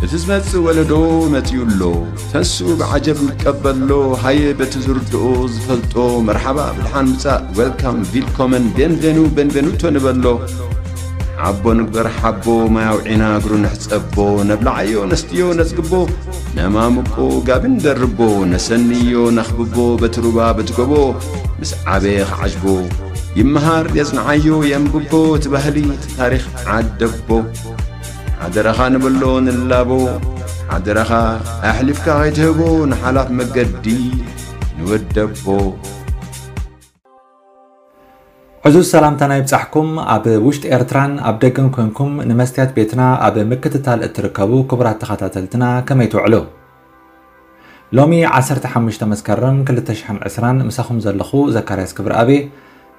እቲ ዝመጽእ ወለዶ መጺኡ ኣሎ። ተንስኡ ብዓጀብ ንቀበሎ። ሃየ በቲ ዝርድኦ ዝፈልጦ መርሓባ ብድሓን ምጻእ፣ ዌልካም፣ ቪልኮመን፣ ቤንቬኑ፣ ቤንቬኑቶ ንበሎ። ሓቦ ንግበር ሓቦ፣ ማይ ኣውዒና እግሩ ንሕጸቦ። ነብልዓዮ ነስትዮ ነጽግቦ፣ ነማምቆ ጋቢ ንደርቦ። ነሰንዮ ነኽብቦ በቲ ሩባ በቲ ጎቦ። ምስ ዓበየ ክዓጅቦ ይመሃር የጽንዓዮ የንብቦ። እቲ ባህሊ እቲ ታሪኽ ዓደቦ። ሓደራኻ ንብሎ ንላቦ። ሓደራኻ ኣሕሊፍካ ከይትህቦ ንሓላፍ መገዲ ንወደቦ። ዕዙዝ ሰላምታና ይብጻሕኩም። ኣብ ውሽጢ ኤርትራን ኣብ ደገን ኮንኩም ንመስትያት ቤትና ኣብ ምክትታል እትርከቡ ክቡራት ተኸታተልትና ከመይ ትውዕሉ? ሎሚ ዓሰርተ ሓሙሽተ መስከረም ክልተ ሽሕን ዕስራን ምሳኹም ዘለኹ ዘካርያስ ክብረኣብ።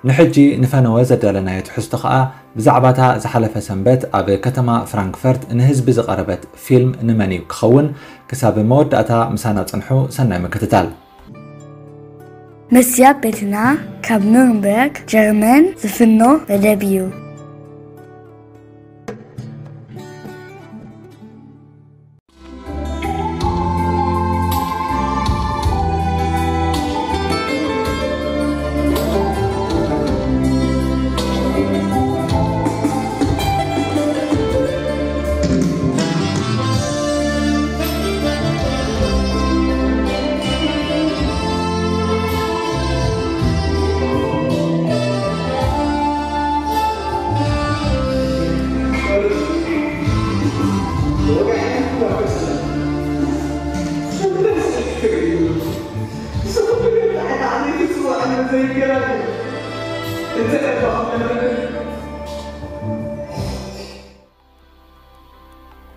ንሕጂ ንፈነወ ዘዳለናዮ ትሕዝቶ ኸኣ ብዛዕባታ ዝሓለፈ ሰንበት ኣብ ከተማ ፍራንክፈርት ንህዝቢ ዝቐረበት ፊልም ንመን እዩ ክኸውን። ክሳብ መወዳእታ ምሳና ጽንሑ። ሰናይ ምክትታል። መስትያት ቤትና ካብ ኑርንበርግ ጀርመን ዝፍኖ መደብ እዩ።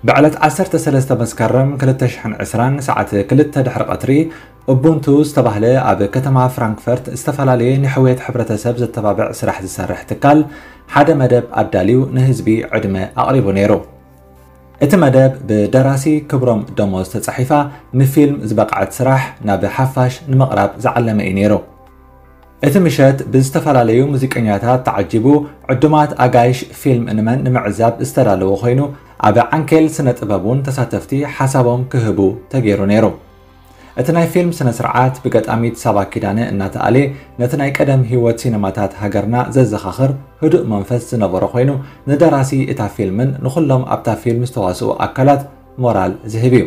ብዕለት ዓሰርተ ሰለስተ መስከረም ክልተ ሽሕን ዕስራን ሰዓት ክልተ ድሕሪ ቀትሪ፣ ኡቡንቱ ዝተባህለ ኣብ ከተማ ፍራንክፈርት ዝተፈላለየ ንሕውየት ሕብረተሰብ ዘተባብዕ ስራሕ ዝሰርሕ ትካል ሓደ መደብ ኣዳልዩ ንህዝቢ ዕድመ ኣቕሪቡ ነይሩ። እቲ መደብ ብደራሲ ክብሮም ደሞዝ ተጻሒፋ ንፊልም ዝበቕዐት ስራሕ ናብ ሓፋሽ ንምቕራብ ዝዓለመ እዩ ነይሩ። እቲ ምሸት ብዝተፈላለዩ ሙዚቀኛታት ተዓጂቡ፣ ዕዱማት ኣጋይሽ ፊልም ንመን ንምዕዛብ ዝተዳለወ ኮይኑ፣ ኣብ ዓንኬል ስነ ጥበብ እውን ተሳተፍቲ ሓሳቦም ክህቡ ተገይሩ ነይሩ። እቲ ናይ ፊልም ስነ ስርዓት ብገጣሚት ሳባ ኪዳነ እናተኣልየ፣ ነቲ ናይ ቀደም ህይወት ሲነማታት ሃገርና ዘዘኻኽር ህዱእ መንፈስ ዝነበሮ ኮይኑ፣ ንደራሲ እታ ፊልምን ንኹሎም ኣብታ ፊልም ዝተዋስኡ ኣካላት ሞራል ዝህብ እዩ።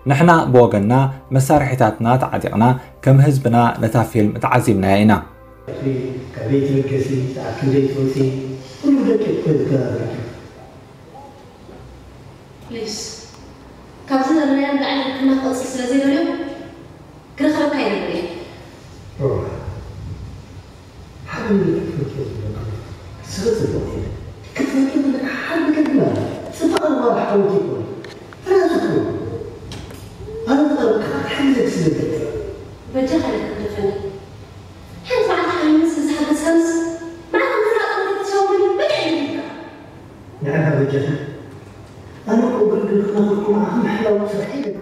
ንሕና ብወገንና መሳርሒታትና ተዓጢቕና ከም ህዝብና ነታ ፊልም ተዓዚብናያ ኢና። ካብ ቤት መገሲ ሰዓት ክንደይ ትወፂ? ኩሉ ደቂቕ ኮይኑ ከናብረኪ። ፕሊስ፣ ካብዚ ዘለናዮ ንላዕሊ ሕክምና ክቕጽል ስለ ዘይደልዮ ክረኽበካ ኣይደልን እየ። ሮማ፣ ሓደ ነገር ክትፈልጥዮ ዘለካ፣ ስለ ጽቡቕ እየ። ክትፈልጥዮ ዘለካ ሓደ ነገር ግን ኣሎ። ጽባቐ ንጓል ሓወልቲ ይኮን። ፍርያት ይኮን። ኣነ ዝቐረብካ ሓንቲ ነገር ስለ ዝገጥም። በጃኻ ኣይትግደፈኒ። ሓንቲ መዓልቲ ሓሚመስ ምስ ሓገዝካንስ፣ መዓልቲ ምፍላጥ ማለት ክትሰውረኒ በጃ ይብልካ። ንዕኻ በጃኻ። ኣነ እኮ ብርግጽ ንኽናፍርኩም ንዓኹም ምሕላው ስርሐይ እዩ።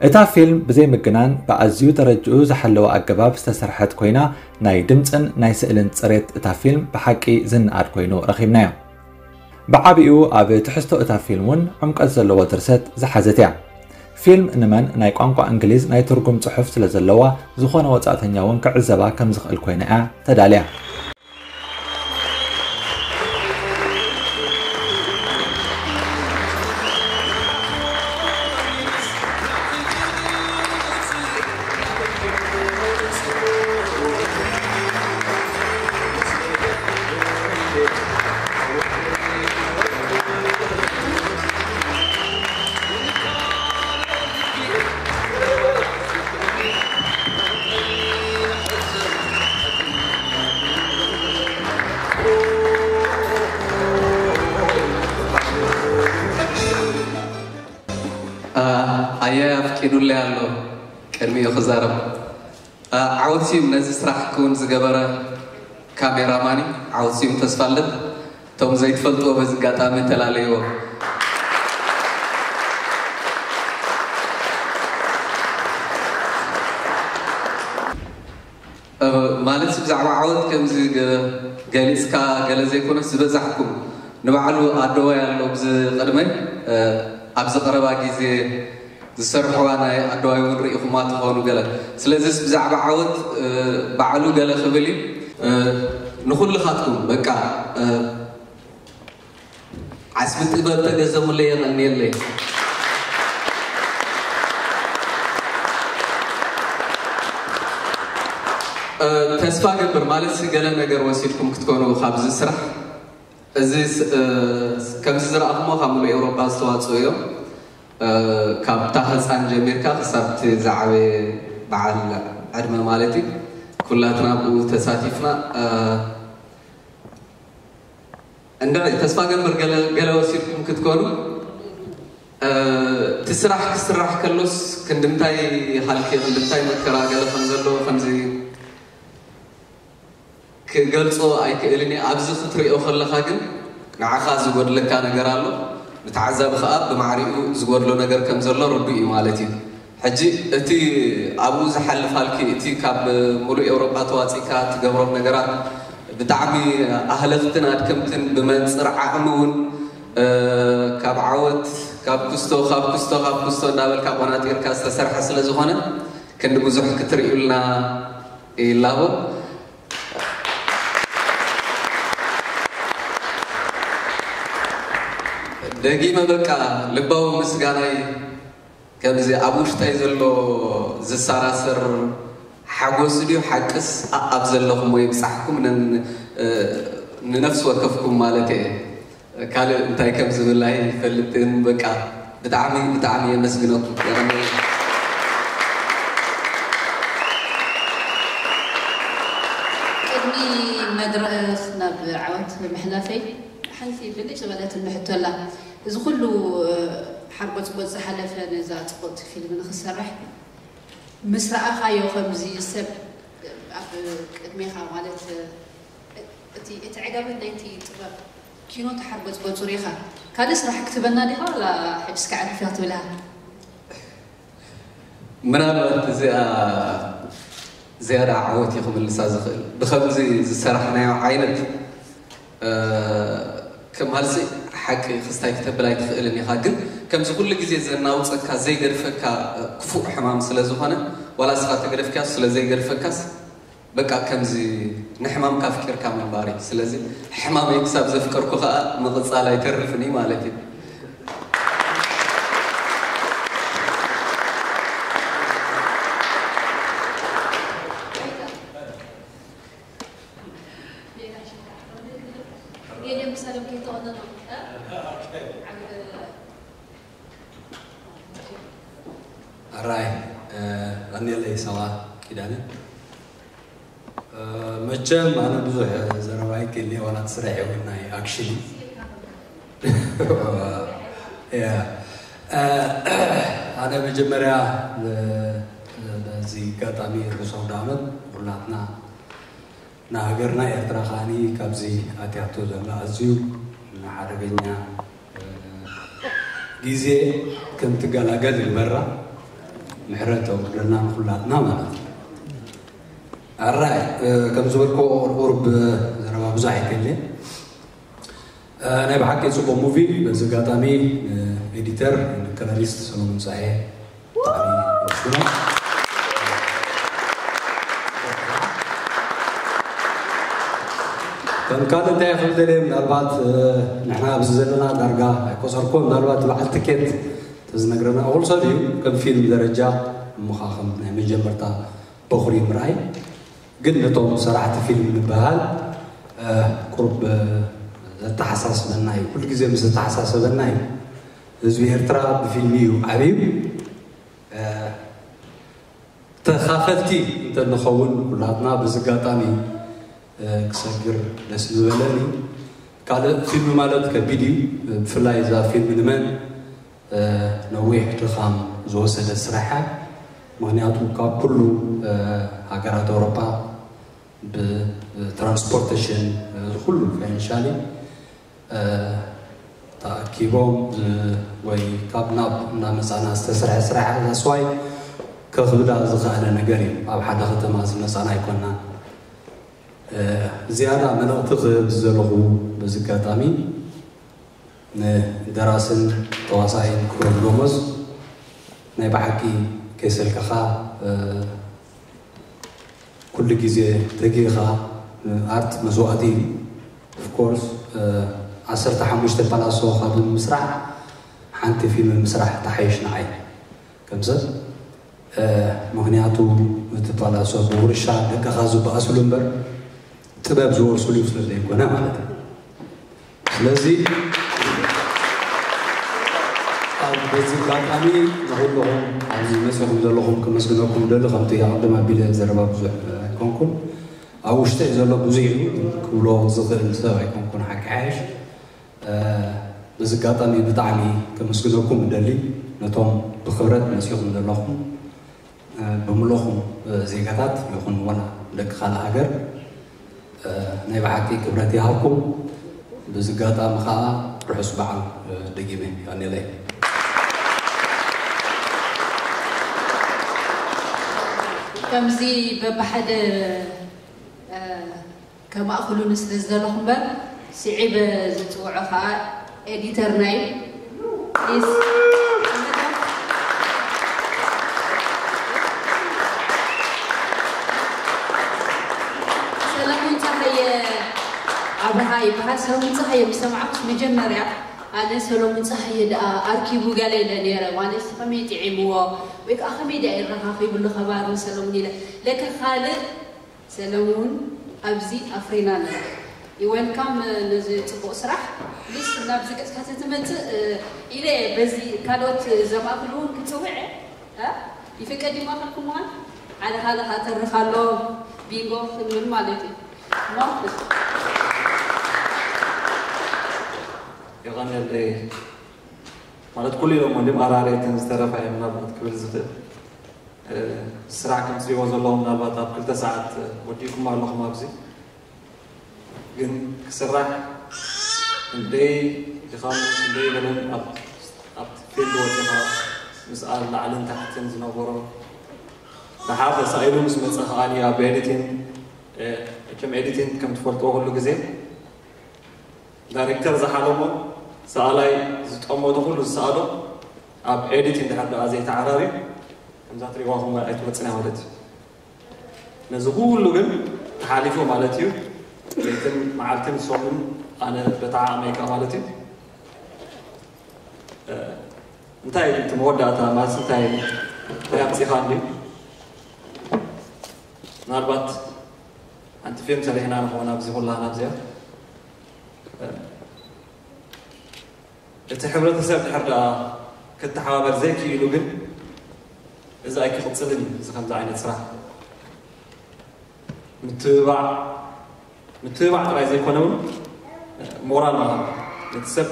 እታ ፊልም ብዘይ ምግናን ብኣዝዩ ደረጅኡ ዝሓለወ ኣገባብ ዝተሰርሐት ኮይና፣ ናይ ድምጽን ናይ ስእልን ጽሬት እታ ፊልም ብሓቂ ዝነኣድ ኮይኑ ረኺብናዮ። ብዓቢኡ ኣብ ትሕዝቶ እታ ፊልም እውን ዕምቀት ዘለዎ ድርሰት ዝሓዘት እያ። ፊልም ንመን ናይ ቋንቋ እንግሊዝ ናይ ትርጉም ጽሑፍ ስለ ዘለዋ፣ ዝኾነ ወጻእተኛ እውን ክዕዘባ ከም ዝኽእል ኮይና እያ ተዳልያ። ኣየ ኣፍቂዱለይ ኣሎ ቅድሚኡ ክዛረብ። ዓወት ስዩም ነዚ ስራሕ ክውን ዝገበረ ካሜራማኒ ዓወት ስዩም ተስፋልደት። እቶም ዘይትፈልጥዎ በዚ ኣጋጣሚ ተላለይዎ። ማለት ብዛዕባ ዓወት ከምዚ ገ-፣ ገሊጽካ ገለ ዘይኮነስ ዝበዛሕኩም ንባዕሉ ኣደዋይ ኣሎ ብዚ ቅድመይ፣ እ፣ ኣብዚ ቀረባ ግዜ ዝሰርሕዋ ናይ ኣደዋይ እውን ርኢኹማ ትኾኑ ገለ። ስለዚስ ብዛዕባ ዓወት ባዕሉ ገለ ክብል እዩ። ንኹልኻትኩም በቃ ዓስቢ ጥበብ ተገዘሙለይ የቐንየለይ። ተስፋ ገብር ማለት ገለ ነገር ወሲድኩም ክትኮኑ ካብዚ ስራሕ እዚ ከምዚ ዝረኣኹሞ ካብ ሙሉእ ኤውሮጳ ዝተዋፅኡ እዮም። ካብታ ህፃን ጀሚርካ ክሳብቲ ዝዓበየ በዓል ዕድመ ማለት እዩ። ኩላትና ብኡ ተሳቲፍና። እንድዒ ተስፋ ገምር ገለ ወሲድኩም ክትኮኑ እቲ ስራሕ ክስራሕ ከሎስ ክንድምታይ ሃልኪ ክንድምታይ መከራ ገለ ከም ዘለዎ ከምዚ ክገልጾ ኣይክእልን እየ። ኣብዚ ክትሪኦ ከለኻ ግን ንዓኻ ዝጎድለካ ነገር ኣሎ። ንተዓዛቢ ከኣ ብማዕሪኡ ዝጎድሎ ነገር ከም ዘሎ ርዱእ እዩ ማለት እዩ። ሕጂ እቲ ኣብኡ ዝሓልፍ ሃልኪ እቲ ካብ ሙሉእ ኤውሮጳ ተዋጺእካ ትገብሮም ነገራት ብጣዕሚ ኣህለኽትን ኣድከምትን ብመንጽር ዓቕሚ እውን ካብ ዓወት ካብ ክስቶ ካብ ክስቶ ካብ ክስቶ እንዳበልካ ቆናጢርካ ዝተሰርሐ ስለ ዝኾነ ክንዲ ብዙሕ ክትርእዩልና ይላቦ። ደጊመ በቃ ልባዊ ምስጋናይ ከምዚ ኣብ ውሽጠይ ዘሎ ዝሰራሰር ሓጎስ ድዩ ሓቅስ ኣብ ዘለኹም ወይ ብጻሕኩም ንነፍሲ ወከፍኩም ማለት እየ። ካልእ እንታይ ከም ዝብል ኣይፈልጥን። በቃ ብጣዕሚ ብጣዕሚ የመስግነኩም። ቅድሚ መድረኽ ናብ ዓወት ምሕላፈይ ሓንቲ ብልጭ ዝበለትኒ ሕቶ ኣላ። እዚ ኩሉ ሓርጎጽጎጽ ዝሓለፈ ነዛ ጽብቕቲ ፊልም ንኽትሰርሕ ምስ ረኣኻዮ ከምዚ ሰብ ኣብ ቅድሜኻ ማለት እቲ እቲ ዕጋበት ናይቲ ጥበብ ኪኖ ተሓርጎጽጎጹ ሪኢኻ ካልእ ስራሕ ክትበና ዲኻ ዋላ ሕጅስ ከዕርፍ እያ ክትብል ኢኻ? ምናልባት እዚኣ ዝያዳ ዓወት እዩ ክምልሳ ዝኽእል ብከምዚ ዝሰራሕናዮ ዓይነት ከም ሃልሲ ሓቂ ክስታይ ክተብል ኣይትኽእልን ኢኻ ግን ከምዚ ኩሉ ግዜ ዘናውፀካ ዘይገድፈካ ክፉእ ሕማም ስለ ዝኾነ ዋላ እስኻ ተገደፍካዮ ስለ ዘይገድፈካስ በቃ ከምዚ ንሕማምካ ኣፍቂርካ ምንባር እዩ። ስለዚ ሕማመይ ክሳብ ዘፍቀርኩ ከኣ ምቕጻል ኣይተርፍን እዩ ማለት እዩ። ኣራይ ቀኒለይ ሰባ ኪዳነ መቸም ኣነ ብዙሕ ዘረባ ኣይክእል ዋላ ትስራሕ ይውን ናይ ኣክሽሊ ኣነ መጀመርያ በዚ ኣጋጣሚ ርሑስ ኣውደ ዓመት ኩላትና ንሃገርና ኤርትራ ከዓኒ ካብዚ ኣትያቶ ዘላ ኣዝዩ ሓደገኛ ግዜ ከም ትገላገል ይግበራ። ምሕረት ኣውርደልና ንኹላትና ማለት እዩ። ኣራይ ከም ዝበልክዎ ቁርብ ዘረባ ብዙሕ ኣይከልን። ናይ ብሓቂ ጽቡቕ ሙቪ። በዚ ኣጋጣሚ ኤዲተር ከለሪስት ሰሎሞን ጸሃየ ከም ካልእ እንታይ ክብል ደልየ ምናልባት ንሕና ኣብዚ ዘለና ዳርጋ ኣይቆጸርኮ ምናልባት በዓል ትኬት ተዝነግረና እኹል ሰብ እዩ ከም ፊልም ደረጃ እሞ ከዓ ከም ናይ መጀመርታ በኹሪ ምርኣይ ግን ነቶም ሰራሕቲ ፊልም ንበሃል ቁሩብ ዘተሓሳስበና እዩ ኩሉ ግዜ ምስ ዘተሓሳሰበና እዩ ህዝቢ ኤርትራ ብፊልሚ እዩ ዓብዩ ተኻፈልቲ እንተንኸውን ኩላትና በዚ ኣጋጣሚ ክሰግር ደስ ምበለኒ። ካልእ ፊልሚ ማለት ከቢድ እዩ። ብፍላይ እዛ ፊልሚ ንመን ነዊሕ ድኻም ዝወሰደ ስራሕ እያ። ምክንያቱ ካብ ኩሉ ሃገራት ኣውሮፓ ብትራንስፖርቴሽን ኩሉ ፋይናንሻሊ ተኣኪቦም ወይ ካብ ናብ እናመፃና ዝተሰርሐ ስራሕ ዛስዋይ ከኽብዳ ዝኸኣለ ነገር እዩ ኣብ ሓደ ከተማ ዝመፃና ኣይኮና ዝያዳ መልእኽቲ ክህብ ዝዘለኹ በዚ ኣጋጣሚ ደራስን ተዋሳኢን ክብሮም ደሞዝ፣ ናይ ብሓቂ ከይሰልከኻ ኩሉ ግዜ ተጊኻ። ኣርት መስዋእቲ እዩ። ኦፍኮርስ ዓሰርተ ሓሙሽተ ፓላሶ ካብ ምስራሕ ሓንቲ ፊልም ምስራሕ ተሓይሽ ንዓይ ከም ሰብ። ምክንያቱ እቲ ፓላሶ ብውርሻ ደቅኻ ዝበኣስሉ እምበር ጥበብ ዝወርስሉ ስለ ዘይኮነ ማለት እዩ። ስለዚ ኣብ በዚ ኣጋጣሚ ንኩልኹም ኣብዚ መፅኹም ዘለኹም ከመስግነኩም ደሊ። ከምቲ ኣቐድም ኣቢለ ዘረባ ብዙሕ ኣይኮንኩን፣ ኣብ ውሽጠይ ዘሎ ብዙሕ እዩ፣ ክብሎ ዝኽእል ሰብ ኣይኮንኩን። ሓቂ ሓይሽ በዚ ኣጋጣሚ ብጣዕሚ ከመስግነኩም እደሊ፣ ነቶም ብክብረት መፂኹም ዘለኹም ብምልኹም ዜጋታት ይኹን ዋላ ደቂ ካልእ ሃገር ናይ ብሓቂ ክብረት ይሃብኩም። ብዚ ኣጋጣሚ ከዓ ርሑስ በዓል ደጊመ ይቀኒለይ። ከምዚ በብሓደ ከማእኽሉኒ ስለ ዝደለኹ እምበር ስዒበ ዝፅውዖ ከዓ ኤዲተርና እዩ። ፕሊዝ ሰለሙን ፀሃየ ኣብርሃ ይበሃል። ሰለሙን ፀሃየ ምስ ሰማዕኩስ መጀመርያ ኣነ ሰለሙን ፀሃየ ደኣ ኣርኪቡ ገለ ኢለ ነይረ። ዋነስ ከመይ ጥዒምዎ ወይ ከዓ ከመይ ደኣ ይረኻኺብሉ ከባር ንሰለሙን ኢለ ለከ ካልእ ሰለሙን ኣብዚ ኣፍሪና ኣለና። ይወልካም ነዚ ፅቡቕ ስራሕ ፕሊስ ናብዚ ገፅካ ተትመፅእ ኢለ በዚ ካልኦት ዘማእክሉ እውን ክፅውዐ ይፍቀድ ይማእከልኩም ምዃን ሓደ ሓደ ከዓ ተርፍ ኣሎ ቢንጎ ክንብል ማለት እዩ። ሞክስ የቐነለይ ማለት ኩሉ ኢሎም ወንድም ኣራርየትን ዝተረፋ እዮም ናብት ክብል ዝኽእል ስራሕ ከም ትሪእዎ ዘለኹም ምናልባት ኣብ ክልተ ሰዓት ወዲእኩም ኣለኹም ኣብዚ ግን ክስራሕ ክንደይ ድኻም ክንደይ በለን ኣብቲ ፊልድ ወፂኻ ምስኣል ላዕልን ታሕትን ዝነበሮ ደሓር ተሳኢሉ ምስ መፀ ከዓኒ ኣብ ኤዲቲንግ መቸም ኤዲቲንግ ከም ትፈልጥዎ ኩሉ ግዜ ዳይሬክተር ዝሓለሞ ሰኣላይ ዝጠመቶ ኩሉ ዝሰኣሎ ኣብ ኤዲቲንግ ድሓር ደኣ ዘይተዓራርዩ ከምዛ ትሪእዋ ኹም ኣይትወፅን እያ ማለት እዩ። ነዚ ኩሉ ግን ተሓሊፉ ማለት እዩ። ለይትን መዓልትን ሶምን ኣነ በታ ዓቕመይ ከኣ ማለት እዩ። እንታይ እዩ እቲ መወዳእታ ማለት እንታይ እንታይ ኣምፂኻ እንድዩ ምናልባት ሓንቲ ፊልም ሰሪሕና ንኸውን ኣብዚ ኩላህና ኣብዚኣ እቲ ሕብረተሰብ ድሕር ደኣ ክተሓባበር ዘይክኢሉ ግን እዚ ኣይክቕፅልን እዩ። እዚ ከምዚ ዓይነት ስራሕ ምትብባዕ ምትብባዕ ጥራይ ዘይኮነ እውን ሞራል ምሃብ ነቲ ሰብ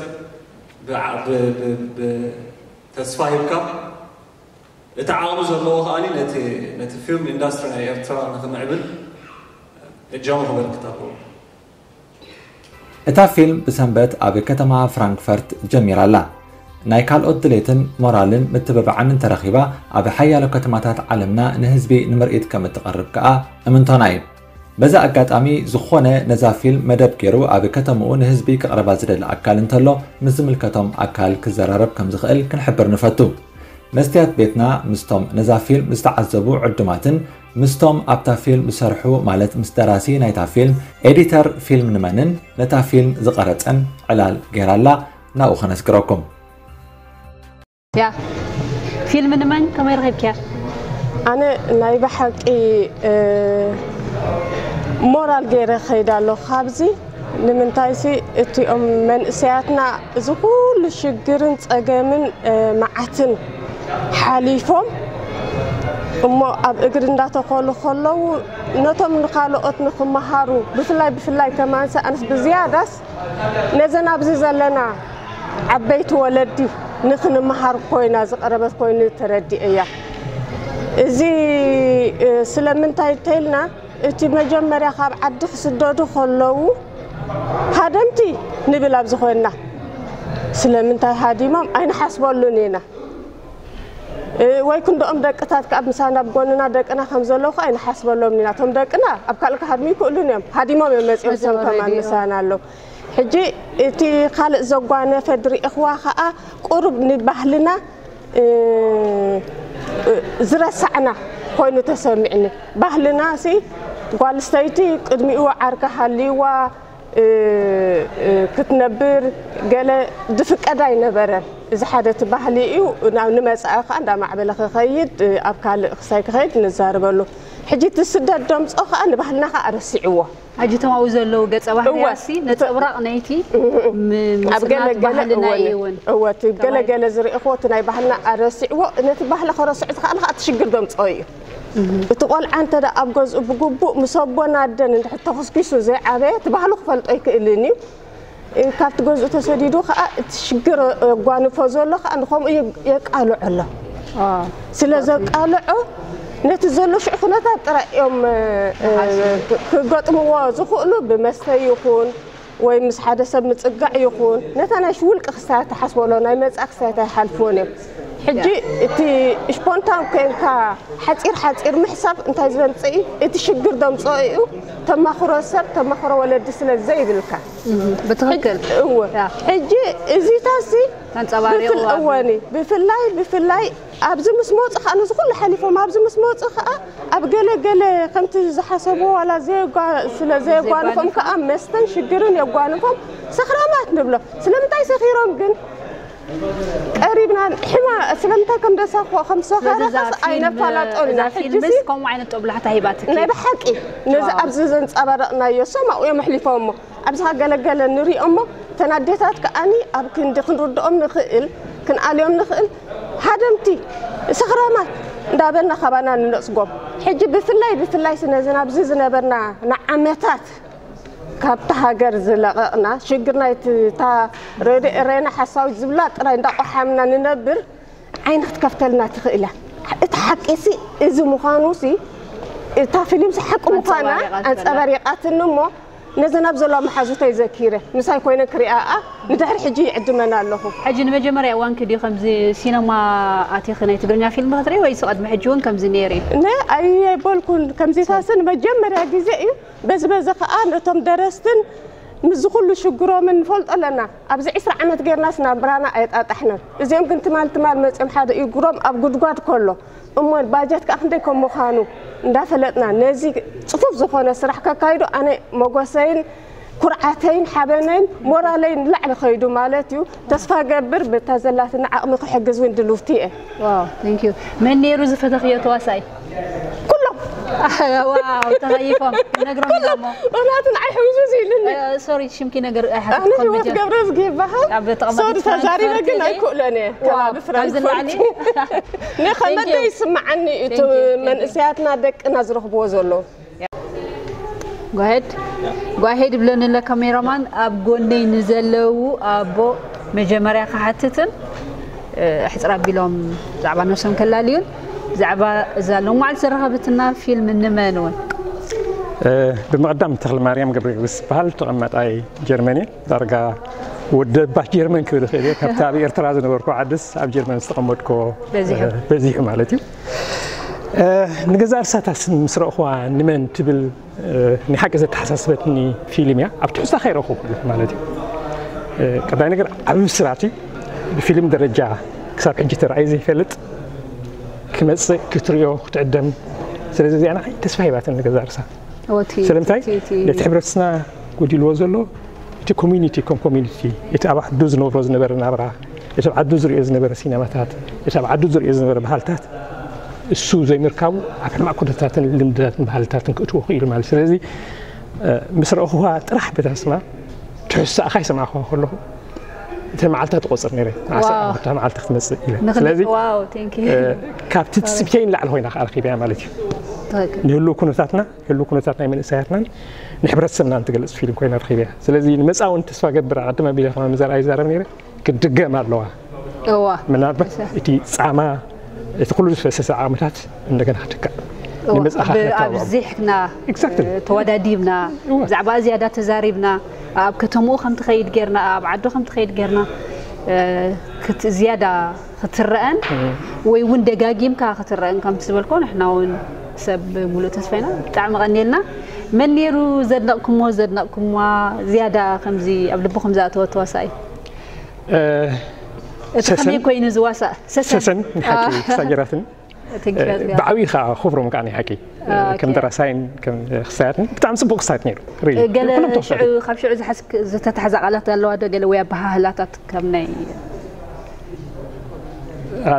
ተስፋ ሂብካ እቲ ዓቕሚ ዘለዎ ከኣ ነቲ ፊልም ኢንዳስትሪ ናይ ኤርትራ ንክምዕብል እጃሙ ክበርክት ኣለዎ። እታ ፊልም ብሰንበት ኣብ ከተማ ፍራንክፈርት ጀሚራ ኣላ። ናይ ካልኦት ድሌትን ሞራልን ምትብባዕን እንተረኺባ ኣብ ሓያሎ ከተማታት ዓለምና ንህዝቢ ንምርኢት ከም እትቐርብ ከኣ እምንቶና እዩ። በዚ ኣጋጣሚ ዝኾነ ነዛ ፊልም መደብ ገይሩ ኣብ ከተምኡ ንህዝቢ ከቕርባ ዝደሊ ኣካል እንተሎ ምስ ዝምልከቶም ኣካል ክዘራረብ ከም ዝኽእል ክንሕብር ንፈቱ። መስትያት ቤትና ምስቶም ነዛ ፊልም ዝተዓዘቡ ዕዱማትን ምስቶም ኣብታ ፊልም ዝሰርሑ ማለት ምስ ደራሲ ናይታ ፊልም፣ ኤዲተር ፊልም ንመንን ነታ ፊልም ዝቐረጸን ዕላል ገይራላ ናብኡ ከነስግረኩም። ያ ፊልም ንመን ከመይ ረኺብክያ? ኣነ ናይ ብሓቂ ሞራል ገይረ ከይዳ ኣለኹ ካብዚ ንምንታይሲ እቲኦም መንእሰያትና እዚ ኩሉ ሽግርን ጸገምን መዓትን ሓሊፎም እሞ ኣብ እግሪ እንዳተኸሉ ከለዉ ነቶም ንኻልኦት ንክመሃሩ ብፍላይ ብፍላይ ከማንሲ ኣንስ ብዝያዳስ ነዘን ኣብዚ ዘለና ዓበይቲ ወለዲ ንክንመሃር ኮይና ዝቐረበት ኮይኑ ተረዲኤያ። እዚ ስለምንታይ ተይልና እቲ መጀመርያ ካብ ዓዲ ክስደዱ ከለዉ ሃደምቲ ንብል ኣብዚ ኮይንና ስለምንታይ ሃዲሞም ኣይንሓስበሉን ኢና። ወይ ክንድኦም ደቅታት ከኣ ምሳና ኣብ ጎንና ደቅና ከም ዘለዉ ከኣ ኣይንሓስበሎምን ኢና። እቶም ደቅና ኣብ ካልእ ክሃድሙ ይክእሉን እዮም። ሃዲሞም እዮም መጺኦም እቶም ከማን ምሳና ኣለዉ። ሕጂ እቲ ካልእ ዘጓነፈ ዝረኣኹዋ ኸኣ ቁሩብ ንባህልና ዝረሳዕና ኮይኑ ተሰሚዕኒ። ባህልና ሲ ጓል ስተይቲ ቅድሚኡ ዓርካ ሃልይዋ ክትነብር ገለ ዝፍቀድ ኣይነበረን። እዚ ሓደ እቲ ባህሊ እዩ። ናብ ንመጻኢ ከኣ እንዳማዕበለ ክኸይድ ኣብ ካልእ ክሳይ ክኸይድ ንዛረበሉ። ሕጂ እቲ ስደት ደምጾ ከኣ ንባህልና ከኣ ረሲዕዎ። ሕጂ እቶም ኣብኡ ዘለዉ ገጸ ባህርያትሲ ነጸብራቕ ናይቲ ኣብ ገለ ገለ እወ እቲ ገለ ገለ ዝርእኽዎ እቲ ናይ ባህልና ኣረሲዕዎ ነቲ ባህሊ ከረስዑ ዝኸኣለ ከዓ እቲ ሽግር ደምፅኦ እዩ። እቲ ቆልዓ እንተ ደኣ ኣብ ገዝኡ ብግቡእ ምስ ኣቦን ኣደን እንድሕር ተኹስኪሱ ዘይዓበየ እቲ ባህሉ ክፈልጦ ኣይክእልን እዩ። ካብቲ ገዝኡ ተሰዲዱ ከዓ እቲ ሽግር የጓንፎ ዘሎ ከዓ ንከምኡ የቃልዖ ኣሎ። ስለ ዘቃልዖ ነቲ ዘሎ ሽዑ ኩነታት ጥራይ እዮም ክገጥምዎ ዝኽእሉ ብመስተ ይኹን ወይ ምስ ሓደ ሰብ ምጽጋዕ ይኹን ነታ ናይ ውልቂ ክስታያት ትሓስቦ ኣሎ ናይ መጻኢ ክስታያት ኣይሓልፍዎን እዮም። ሕጂ እቲ ስፖንታን ኮይንካ ሓጺር ሓጺር ምሕሳብ እንታይ ዘምጽእ እቲ ሽግር ዘምጽኦ እዩ። ተማኽሮ ሰብ ተማኽሮ ወለዲ ስለ ዘይብልካ ብትኽክል እወ ሕጂ እዚታሲ ተንጸባሪቑ እወኒ ብፍላይ ብፍላይ ኣብዚ ምስ መፁ ከዓ ነዚ ኩሉ ሓሊፎም ኣብዚ ምስ መፁ ከዓ ኣብ ገለ ገለ ከምቲ ዝሓሰቡ ዋላ ስለ ዘየጓንፎም ከዓ መስተን ሽግርን የጓንፎም ሰኽራማት ንብሎ። ስለምንታይ ሰኺሮም ግን ቀሪብና ሕማ ስለምንታይ ከም ደሳኾ ከም ሰኻራስ ኣይነፋላጦን ኢና። ሕጂ ከምኡ ዓይነት ጦብላሕታ ሂባትኪ ናይ ብሓቂ ነዚ ኣብዚ ዘንጸባረቕናዮ ሰማኡ እዮም ኣሕሊፎሞ። ኣብዚ ገለገለ ንሪኦ እሞ እተን ኣዴታት ከኣኒ ኣብ ክንዲ ክንርድኦም ንኽእል ክንኣልዮም ንኽእል ሃደምቲ ሰኽራማት እንዳበልና ካባና ንነጽጎም። ሕጂ ብፍላይ ብፍላይ ስነዚ ናብዚ ዝነበርና ንዓመታት ካብቲ ሃገር ዝለቐቕና ሽግር ናይቲ እታ ረድኤ ሬና ሓሳዊት ዝብላ ጥራይ እንዳቆሓምና ንነብር ዓይኒ ክትከፍተልና ትኽእል እያ። እቲ ሓቂሲ እዚ ምዃኑሲ እታ ፊልምሲ ሓቂ ምዃና ኣንጸባሪቓትኒ እሞ ነዘን ኣብ ዘለዋ መሓዙተይ ዘኪረ ምሳይ ኮይነ ክሪኣኣ ንድሕሪ ሕጂ ይዕድመን ኣለኹ። ሕጂ ንመጀመርያ እዋንኪ ድዩ ከምዚ ሲነማ ኣቲኺ ናይ ትግርኛ ፊልም ክትርኢ ወይስ ቅድሚ ሕጂ እውን ከምዚ ነይሩ እዩ? ነ ኣይበልኩን ከምዚታሲ ንመጀመርያ ግዜ እዩ። በዚ በዚ ከዓ ነቶም ደረስትን ምስዚ ኩሉ ሽግሮምን ንፈልጦ ኣለና። ኣብዚ ዕስራ ዓመት ጌርናስ ናብራና ኣየጣጣሕናን። እዚኦም ግን ትማል ትማል መጺኦም ሓደ እግሮም ኣብ ጉድጓድ ከሎ እሞ ባጀት ከዓ ክንደይ ከም ምዃኑ እንዳፈለጥና ነዚ ጽፉፍ ዝኾነ ስራሕ ከካይዱ ኣነ ሞጎሰይን ኩርዓተይን ሓበነይን ሞራለይን ንላዕሊ ከይዱ ማለት እዩ። ተስፋ ገብር በታ ዘላትና ዓቕሚ ክሕግዝ እውን ድልውቲ እየ። ዋው thank you። መን ነይሩ ዝፈተኽዮ ተዋሳኣይ? ኩሎም ዋው ተኸይፎም ነግሮም ኢሎሞ። ናቱ ንዓይ ሕውዝውዝ ኢሉኒ። ሶሪ ሽምኪ ነገር ኣነ ህይወት ገብረዝጊ ይበሃል። ሶሪ ተዛሪበ ግን ኣይክእሎን እየ። ከባቢ ፍራንክፈርት ንኸመደ ይስምዓኒ እዩ መንእሰያትና ደቅና ዝረኽብዎ ዘለዉ። ጓሄድ ጓሄድ ይብለኒ ኣሎ ካሜራማን ኣብ ጎነይ ንዘለዉ ኣቦ መጀመርያ ክሓትትን ሕፅር ኣቢሎም ብዛዕባ ነብሶም ከላልዩን ብዛዕባ እዛ ሎማዓልቲ ዘረኸበትና ፊልም ንመን እውን ብምቕዳም ተኽለማርያም ገብረጊዮርጊስ ዝበሃል ተቐማጣይ ጀርመን እየ ዳርጋ ወደባት ጀርመን ክብል ይኽእል እየ ካብቲ ኣብ ኤርትራ ዝነበርኩ ዓድስ ኣብ ጀርመን ዝተቐመጥኮ በዚሑ ማለት እዩ ንገዛእ ርእሳታ ምስ ረእኹዋ ንመን ትብል ናይ ሓቂ ዘተሓሳስበትኒ ፊልም እያ ኣብ ትሕዝታ ከይረእኹ ማለት እዩ ቀዳይ ነገር ዓብዪ ብስራት እዩ ብፊልም ደረጃ ክሳብ ሕጂ ተራእዩ ዘይፈልጥ ክመፅእ ክትሪኦ ክትዕደም ስለዚ እዚኣ ንዓይ ተስፋ ሂባትኒ ንገዛእ ርእሳ ስለምንታይ ነቲ ሕብረተሰብና ጎዲልዎ ዘሎ እቲ ኮሚኒቲ ከም ኮሚኒቲ እቲ ኣብ ዓዱ ዝነብሮ ዝነበረ ናብራ እቲ ኣብ ዓዱ ዝሪኦ ዝነበረ ሲነማታት እቲ ኣብ ዓዱ ዝሪኦ ዝነበረ ባህልታት እሱ ዘይምርካቡ ኣብ ሕማቕ ኩነታትን ልምድታትን ባህልታትን ክእትዎ ክኢሉ ማለት ስለዚ ምስ ረእኹዋ ጥራሕ በታ ስማ ትሕዝቶኣ ካይሰማዕኹዋ ከለኹ እተን መዓልታት እቆፅር ነይረ ንዓሰርተ ክልተ መዓልቲ ክትመፅእ ኢለ ስለዚ ካብቲ ትፅቢተይ ንላዕሊ ኮይና ከዓ ረኪበያ ማለት እዩ ንህልው ኩነታትና ህልው ኩነታት ናይ መንእሰያትናን ንሕብረተሰብናን ትገልፅ ፊልም ኮይና ረኪበያ ስለዚ ንመፃ እውን ተስፋ ገብር ኣቐድም ኣቢለ ከማን ዘርኣ ይዛረብ ነይረ ክትድገም ኣለዋ እዋ ምናልባት እቲ ፃማ እቲ ኩሉ ዝፈሰሰ ዓቕምታት እንደገና ክትካእ ንመፅኣ ኣብዚሕና ተወዳዲብና ብዛዕባ ዝያዳ ተዛሪብና ኣብ ከተምኡ ከም ትኸይድ ጌርና ኣብ ዓዱ ከም ትኸይድ ጌርና ዝያዳ ክትረአን ወይ እውን ደጋጊምካ ክትረአን ከም ዝበልኮ ንሕና እውን ሰብ ሙሉእ ተስፋ ኢና ብጣዕሚ ቀኒልና መን ነይሩ ዘድነቕኩሞ፣ ዘድነቕኩምዋ ዝያዳ ከምዚ ኣብ ልብኹም ዝኣተወ ተዋሳኣይ? እቲ ከመይ ኮይኑ ዝዋሳእ? ሰሰን። ሰሰን፣ ሓቂ ክሳብ ጌራትኒ። ብዓብዪ ከዓ ክብሮም ከዓ ናይ ሓቂ ከም ደራሳይን ከም ክሳያትን ብጣዕሚ ፅቡቅ ክሳያት ነይሩ። ገለ ሽዑ ካብ ሽዑ ዝሓዝክ ዝተታሕዛ ቃላት ኣለዋ ዶ ገለ ወይ ኣበሃህላታት ከም ናይ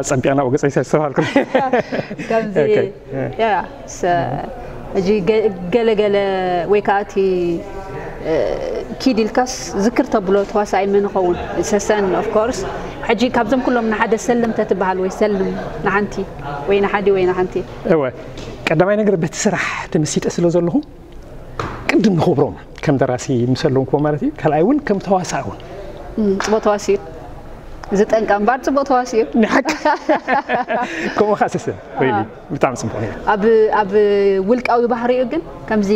ጸቢቕና ወገጸይ ሰስተዋልኩ። ከምዚ ያ ሕጂ ገለገለ ወይ ከዓ እቲ ኪድ ኢልካስ ዝክር ተብሎ ተዋሳኣይ መን ይኸውን? ሰሰን of course። ሕጂ ካብዞም ኩሎም ንሓደ ሰልም ተትበሃል ወይ ሰልም ንሓንቲ ወይ ንሓዲ ወይ ንሓንቲ? እወ፣ ቀዳማይ ነገር በቲ ስራሕ ተመሲጠ ስለ ዘለኹ ቅድም ንኽብሮም ከም ደራሲ ምስ ኣለንክዎ ማለት እዩ። ካልኣይ እውን ከም ተዋሳእ እውን ጽቡቅ ተዋሲኡ ዝጠንቃ እምበር ጽቡቅ ተዋሲኡ። ንሓቂ ከምኡ ኸዓ ሰሰን really ብጣዕሚ ጽቡቅ ነይሩ። ኣብ ኣብ ውልቃዊ ባህሪኡ ግን ከምዚ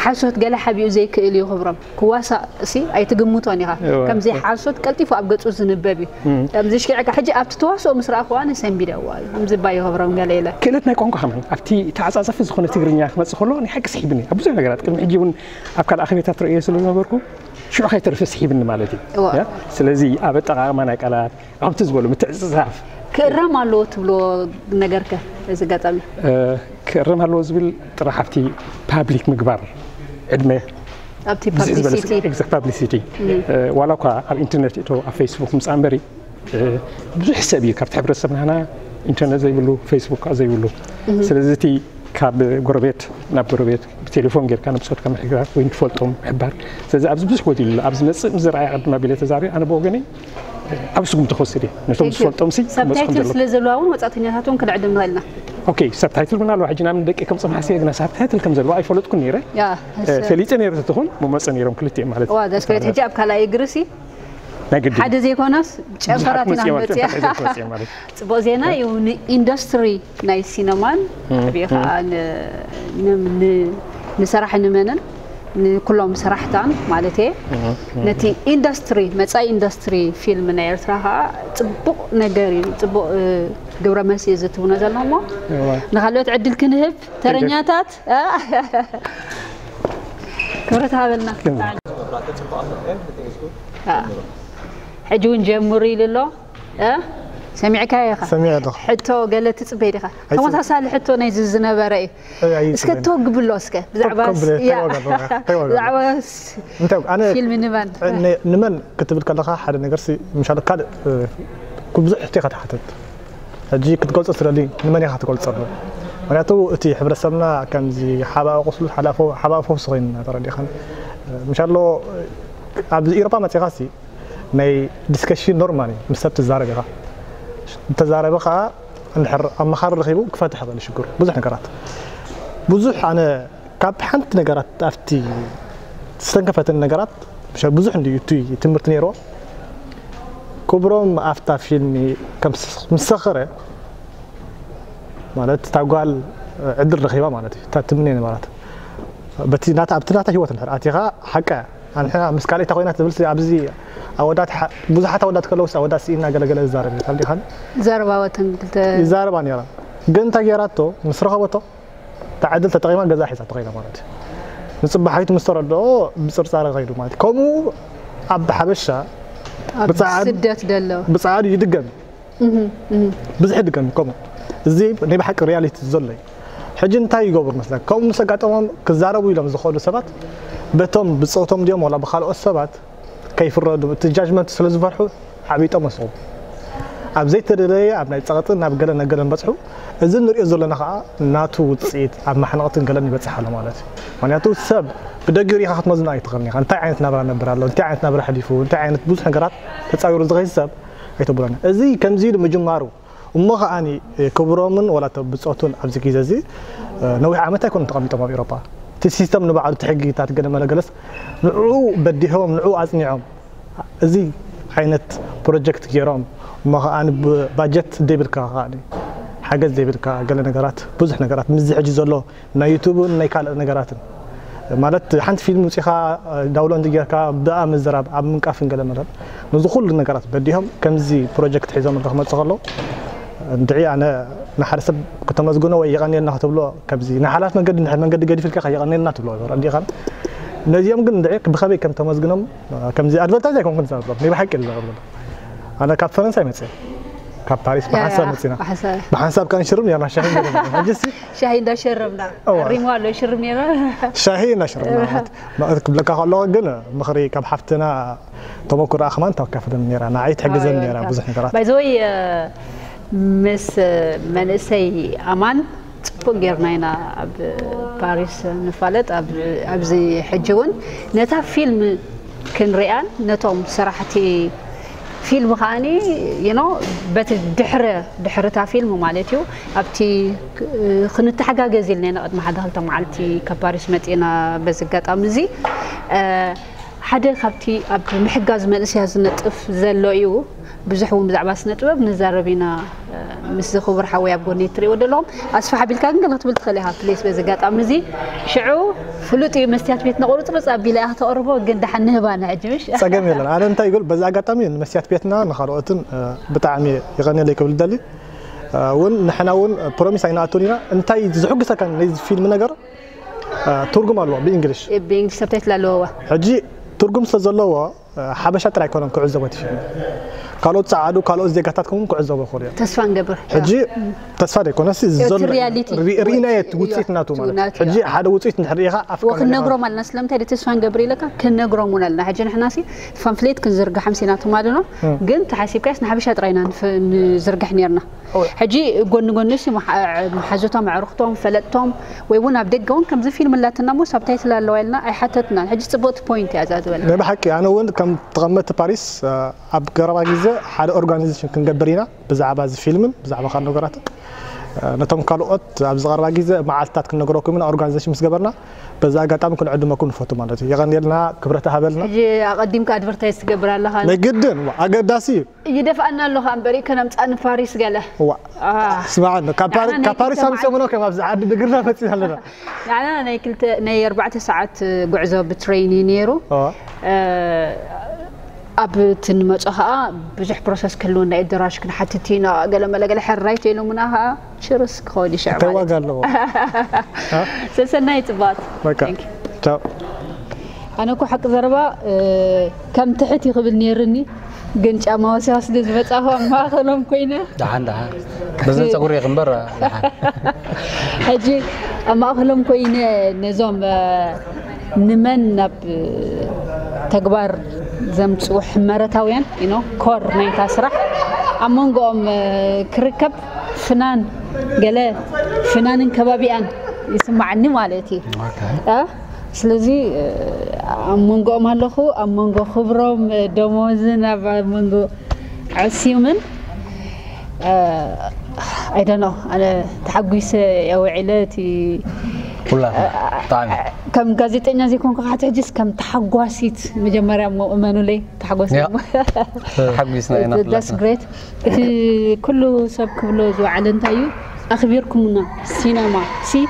ሓሶት ገለ ሓቢኡ ዘይክእል እዩ። ክብሮም ክዋሳእ ሲ ኣይትግምቶን ኢኻ። ከምዚ ሓሶት ቀልጢፉ ኣብ ገጹ ዝንበብ እዩ። ከምዚ ሽኪዕካ ሕጂ ኣብቲ ተዋስኦ ምስ ረኣኹዋ ኣነ ሰንቢደዋ እዩ። ከምዚ እባ ይኸብሮም ገለ ኢለ። ክእለት ናይ ቋንቋ ከማን ኣብቲ ተዓጻጸፊ ዝኾነ ትግርኛ ክመጽእ ከሎ ናይ ሓቂ ስሒብኒ ኣብ ብዙሕ ነገራት ቅድሚ ሕጂ እውን ኣብ ካልእ ኣኼቤታት ርእየ ስለ ዝነበርኩ ሽዑ ከይተረፈ ስሒብኒ ማለት እዩ። ስለዚ ኣብ ኣጠቓቕማ ናይ ቃላት ከምቲ ዝበሉ ምትዕጽጻፍ ክእረም ኣለዎ ትብሎ ነገርከ እዚ ኣጋጣሚ? ክእረም ኣለዎ ዝብል ጥራሕ ኣብቲ ፓብሊክ ምግባር ዕድመ ኣብቲ ፓብሊሲቲ ዋላ እኳ ኣብ ኢንተርነት እቶ ኣብ ፌስቡክ ምፃ እምበሪ ብዙሕ ሰብ እዩ ካብቲ ሕብረተሰብ ናህና ኢንተርነት ዘይብሉ ፌስቡክ ከዓ ዘይብሉ ስለዚ እቲ ካብ ጎረቤት ናብ ጎረቤት ብቴሌፎን ጌርካ ንብፆትካ ምሕጋር ወይ ንትፈልጦም ምሕባር ስለዚ ኣብዚ ብዙሕ ወዲሉ ኣሎ ኣብዚ መፅእ ምስ ዝረኣየ ቅድም ኣቢለ ተዛሪበ ኣነ ብወገነይ ዓብ ስጉምቲ ክወስድ እየ ነቶም ዝፈልጦም ሲ ክመፅኹም ሰብታይትል ዘለዉ ስለ ዘለዋ እውን ወፃእተኛታት እውን ክንዕድም ንኽእል ኢና ኦኬ ሰብታይትል እውን ኣለዋ ሕጂ ናብ ደቂ ከምፅኦም ሓሲበ ግና ሰብታይትል ከም ዘለዋ ኣይፈለጥኩን ነይረ ፈሊጠ ነይረ ተትኾን መመፀ ነይሮም ክልቲኦም ማለት እዩ ሕጂ ኣብ ካልኣይ እግሪ ሲ ናይ ግዲ ሓደ ዘይኮነስ ጨንፈራት ኢና ክንመፅእ እያ። ፅቡቅ ዜና እዩ ንኢንዱስትሪ ናይ ሲነማን ብኡ ከዓ ንሰራሕ ንመንን ንኩሎም ሰራሕታን ማለት እየ ነቲ ኢንዱስትሪ መፃኢ ኢንዱስትሪ ፊልም ናይ ኤርትራ ከዓ ፅቡቅ ነገር እዩ ፅቡቅ ግብረ መልሲ እዩ ዝትብኖ ዘሎ እሞ ንካልኦት ዕድል ክንህብ ተረኛታት ክብረት ሃበልና ሕጂ እውን ጀምሩ ኢሉ ኣሎ ሰሚዕካ ኢኻ ሰሚዐ ኣለኹ ሕቶ ገለ ትፅበይ ዲኻ ተመሳሳሊ ሕቶ ናይዚ ዝነበረ እዩ እስከ ተወግብሎ እስከ ብዛዕባ ብዛዕባ ፊልም ንመን ንመን ክትብል ከለኻ ሓደ ነገር ምሻሉ ካልእ ብዙሕ ሕቶ ኢኻ ትሓተት ሕጂ ክትገልጾ ትደሊ ንመን ኢኻ ትገልጸሉ ምክንያቱ እቲ ሕብረተሰብና ከምዚ ሓባኦ ቁስሉ ሓባኦ ፈውሲ ኮይኑ ተረዲኻን ምሻሎ ኣብዚ ኢሮፓ መጺኻሲ ናይ ዲስከሽን ኖርማል እዩ ምስ ሰብ ትዛረብ ኢኻ እንተዛረበ ከዓ እንድሕር ኣመኻሪ ረኺቡ ክፈትሕ ይኽእል ሽግሩ ብዙሕ ነገራት ብዙሕ ኣነ ካብ ሓንቲ ነገራት ኣብቲ ዝተንከፈተኒ ነገራት ብዙሕ እንድዩ እቲ ትምህርቲ ነይርዎ ክብሮም ኣብታ ፊልሚ ምስ ሰኸረ ማለት እታ ጓል ዕድል ረኺባ ማለት እዩ እታ ትምነ ነበራት በቲ ናታ ኣብቲ ናታ ህይወት እንድሕር ኣቲኻ ሓቀ ኣንሕና ምስ ካልእታ ኮይና ትብል ኣብዚ ኣወዳት ብዙሓት ኣወዳት ከለውስ ኣወዳት ስኢና ገለገለ ዝዛረብ እዩ ካብ ዲኻን ዘረባወተን ክልተ ይዛረባ ነራ ግን እንታይ ገይራቶ ምስ ረኸበቶ እታ ዕድል ተጠቒማ ገዛ ሒዛ ተኸይዳ ማለት እዩ ንፅባሓይቱ ምስ ተረድኦ ብፅርፃረ ከይዱ ማለት እዩ ከምኡ ኣብ ሓበሻ ስደት ደሎ ብፃዕዱ ይድገም ብዙሕ ድገም ከምኡ እዚ ናይ ብሓቂ ሪያሊቲ ዘሎ እዩ ሕጂ እንታይ ይገብሩ መስለካ ከምኡ ምስ ኣጋጠሞም ክዛረቡ ኢሎም ዝኸዱ ሰባት በቶም ብፆቶም ድዮም ዋላ ብካልኦት ሰባት ከይፍረዱ እቲ ጃጅመንት ስለ ዝፈርሑ ዓቢጦም መስቑ ኣብ ዘይተደለየ ኣብ ናይ ፀቕጥን ናብ ገለ ነገለን በፅሑ እዚ ንሪኦ ዘለና ከዓ ናቱ ውፅኢት ኣብ ማሕነቕትን ገለን ይበፅሕ ኣሎ ማለት እዩ ምክንያቱ ሰብ ብደጊኡ ሪኢኻ ክትመዝኖ ኣይትኽእልን ኢኻ እንታይ ዓይነት ናብራ ነብር ኣሎ እንታይ ዓይነት ናብራ ሕሊፉ እንታይ ዓይነት ብዙሕ ነገራት ተፃዊሩ ዝኸይድ ሰብ ኣይተብሎን እዚ ከምዚ ኢሉ ምጅማሩ እሞ ከዓኒ ክብሮምን ዋላ ብፆቱን ኣብዚ ግዜ እዚ ነዊሕ ዓመት ኣይኮኑን ተቐሚጦም ኣብ ኤሮፓ እቲ ሲስተም ንባዕሉ እቲ ሕጊታት ገለ መለገለስ ንዕኡ በዲሆም ንዕኡ ኣፅኒዖም እዚ ዓይነት ፕሮጀክት ገይሮም እሞ ከዓኒ ባጀት ዘይብልካ ከዓኒ ሓገዝ ዘይብልካ ገለ ነገራት ብዙሕ ነገራት ምስዚ ሕጂ ዘሎ ናይ ዩቱብን ናይ ካልእ ነገራትን ማለት ሓንቲ ፊልም ውፂኻ ዳውሎንድ ጌርካ ብኣ ምዝራብ ኣብ ምንቃፍን ገለ መለል ነዚ ኩሉ ነገራት በዲሆም ከምዚ ፕሮጀክት ሒዞም ክመፁ ከለዉ እንድዒ ኣነ ንሓደ ሰብ ክተመስግኖ ወይ የቐንየልና ክትብሎ፣ ከምዚ ናይ ሓላፍ መንገዲ፣ እንድሕር መንገዲ ገዲፍልካ ከ የቐንየልና ትብሎ፣ ረዲኻ። ነዚኦም ግን እንድዒ ብኸመይ ከም ተመስግኖም፣ ከምዚ ኣድቨርታይዝ ኣይኮንኩን ዝዛረብ፣ ናይ ብሓቂ ኢለ ዝዛረብ ዘሎ። ኣነ ካብ ፈረንሳይ መፅእ፣ ካብ ፓሪስ ብሓንሳብ መፂና። ብሓንሳብ። ብሓንሳብ ከኣ ንሽርብ ነርና፣ ሻሂ ነርና። ሕጂ እስቲ ሻሂ እንዳሸረብና። እዋ። ሪሞ ኣሎ፣ ይሽርብ ነይራ። ሻሂ እናሽረብና ማለት። ክብለካ ከለኹ ግን ምኽሪ ካብ ሓፍትና ተመኩሮኣ ከማን ተካፍለን ነይራ። ንዓይ ትሕግዘን ነይራ ብዙሕ ነገራት። ባይ ዘ ወይ፣ ምስ መንእሰይ ኣማን ጽቡቅ ጌርና ኢና ኣብ ፓሪስ ንፋለጥ። ኣብ፣ ኣብዚ ሕጂ እውን ነታ ፊልም ክንሪኣን ነቶም ሰራሕቲ ፊልም ከኣኒ፣ you know፣ በቲ ድሕረ፣ ድሕርታ ፊልም ማለት እዩ፣ ኣብቲ ክ-፣ ክንተሓጋገዝ ኢልና ኢና ቅድሚ ሓደ ክልተ መዓልቲ ካብ ፓሪስ መጺና። በዚ ኣጋጣሚ እዚ፣ እ፣ ሓደ ካብቲ ኣብ ምሕጋዝ መንእሰያት ዝነጥፍ ዘሎ እዩ። ብዙሕ እውን ብዛዕባ ስነ ጥበብ ንዛረብ ኢና፣ እ፣ ምስዚ ክቡር ሓወይ ኣብ ጎኒ እትሪእዎ ዘለኹም። ኣስፍሕ ኣቢልካ ግን ገለ ክትብል ትኽእል ኢኻ፣ ፕሊስ፣ በዚ ኣጋጣሚ እዚ። ሽዑ ፍሉጥ እዩ፣ መስትያት ቤት ነቑርጽርጽ ኣቢላ እያ ክተቕርቦ፣ ግን ደሓን ንህባ ንሕጂ፣ ምሽ? ጸገም የለን። ኣነ እንታይ ይብል፣ በዚ ኣጋጣሚ ንመስትያት ቤትና ንኻልኦትን፣ እ፣ ብጣዕሚ የቐንየለይ ክብል ደሊ። እ፣ እውን ንሕና እውን ፕሮሚስ ኣይንኣቱን ኢና። እንታይ ዝሕጉሰካ ነዚ ፊልም ነገር፣ እ፣ ትርጉም ኣለዎ ብእንግሊሽ። ብእንግሊሽ ሰብታይትል ኣለዎ። ሕጂ ትርጉም ስለ ዘለዎ፣ እ፣ ሓበሻ ጥራይ ኣይኮነን ክዕዘቦ እቲ ፊልም። ካልኦት ጸዓዱ፣ ካልኦት ዜጋታት ከውን ክዕዘቦ ይኽእሉ እዮም። ተስፋ ንገብር። ሕጂ ተስፋ ዘይኮነስ፣ እዚ እቲ ዘሎ ሪያሊቲ ሪ-፣ ሪእናዮ እቲ ውጽኢት፣ ውጽኢት ናቱ ማለት። ናቱ፣ ሕጂ ያ። ሓደ ውጽኢት እንድሕር ርኢኻ ኣፍካ ወ-፣ ክንነግሮም ኣለና። ስለምንታይ ደ ተስፋ ንገብር ኢለካ? ክንነግሮም እውን ኣለና። ሕጂ ንሕናሲ ፓምፍሌት ክንዝርግሕ ኣምሲና ትማሊ ነው። እም። ግን ተሓሲብካስ ንሓበሻ ጥራይ ኢና ንፍ-፣ ንዝርግሕ ነርና። እወ። ሕጂ ጎኒ ጎኒ ሲ መሓ-፣ መሓዙቶም፣ ኣዕሩኽቶም፣ ፈለጥቶም ወይ እውን ኣብ ደገ እውን ከምዚ ፊልም ኣላትና እሞ ሳብታይትል ኣለዋ ኢልና ኣይሓተትናን። ሕጂ ጽብቕቲ ፖይንት እያ እዛ ዝበልና። ናይ ብሓቂ ኣነ እውን ከም ተቐመጥቲ ፓሪስ፣ እ፣ ኣብ ቀረባ ግዜ ሓደ ኦርጋናይዜሽን ክንገብር ኢና ብዛዕባ እዚ ፊልምን ብዛዕባ ካልእ ነገራትን። እ፣ ነቶም ካልኦት ኣብ ዝቐረባ ግዜ መዓልትታት ክንነግረኩም ኢና ኦርጋናይዜሽን ምስ ገበርና። በዚ ኣጋጣሚ ክንዕድመኩም ንፈቱ ማለት እዩ። የቐንየልና፣ ክብረት ሃበልና። ሕጂ ኣቐዲምካ ኣድቨርታይዝ ትገብር ኣለኻ። ናይ ግድን፣ ዋ፣ ኣገዳሲ እዩ። ይደፍኣና ኣሎ ኸኣ እምበር፣ ከነምጽኣ ንፓሪስ ገለ። ዋ። አ። ስማዕ ኣሎ፣ ካብ ፓሪ-፣ ንዓና ናይ ካብ ፓሪስ ክልተ ኣምጽኦምና መዓልቲ ከም ኣብዚ ዓዲ ብእግርና መጺና ኣለና። ንዓና ናይ ክልተ፣ ናይ ኣርባዕተ ሰዓት ጉዕዞ ብትሬን እዩ ነይሩ። ኦ። እ፣ ኣብ እቲ ንመጾ ኸኣ ብዙሕ ፕሮሰስ ክህልወና እዩ፣ ኣደራሽ ክንሓትት ኢና፣ ገለ መለ ገለ ሕራይ ተኢሎምና ኸኣ ችርስ ክኸውን እዩ ሽዑ እንታይ ማለት ዋጋ እዩ። ኣለዎ? አ? ሰሰናይ ጽቡቓት። በቃ። Thank you። ቻው። ኣነ እኮ ሓቂ ዘረባ፣ እ፣ ከም ትሕት እዩ ክብል ነይርኒ፣ ግን ጫማ ወሲኻ ስለ ዝመጻኹ ኣብ ማእኸሎም ኮይነ። ደሓን፣ ደሓን። በዘን ጸጉሪ ይኽንበር፣ ደሓን። ሕጂ ኣብ ማእኸሎም ኮይነ ነዞም፣ እ፣ ንመን ናብ ተግባር ዘምጽኡ ሕመረታውያን፣ you know፣ ኮር ናይታ ስራሕ ኣብ መንጎኦም፣ እ፣ ክርከብ ፍናን ገለ ፍናንን ከባቢኣን ይስማዓኒ ማለት እዩ። ኦኬ። እ? ስለዚ፣ እ፣ ኣብ መንጎኦም ኣለኹ፣ ኣብ መንጎ ክብሮም፣ እ፣ ደሞዝን ኣብ መንጎ ዕስዩምን፣ እ፣ I don't know፣ ኣነ ተሓጒሰ እየ ውዒለ። እቲ ኩላትና፣ እ፣ ብጣዕሚ። ከም ጋዜጠኛ ዘይኮንኩ፣ ካብ ሕጂ ሕጂስ ከም ተሓጓሲት፣ መጀመርያ እሞ እመኑለይ፣ ተሓጎስ ያ። እሞ። ተሓጒስና ኢና that's ኩላትና። Great። እቲ ኩሉ ሰብ ክብሎ ዝወዓለ እንታይ እዩ? ኣኽቢርኩምና። ሲነማ ሲ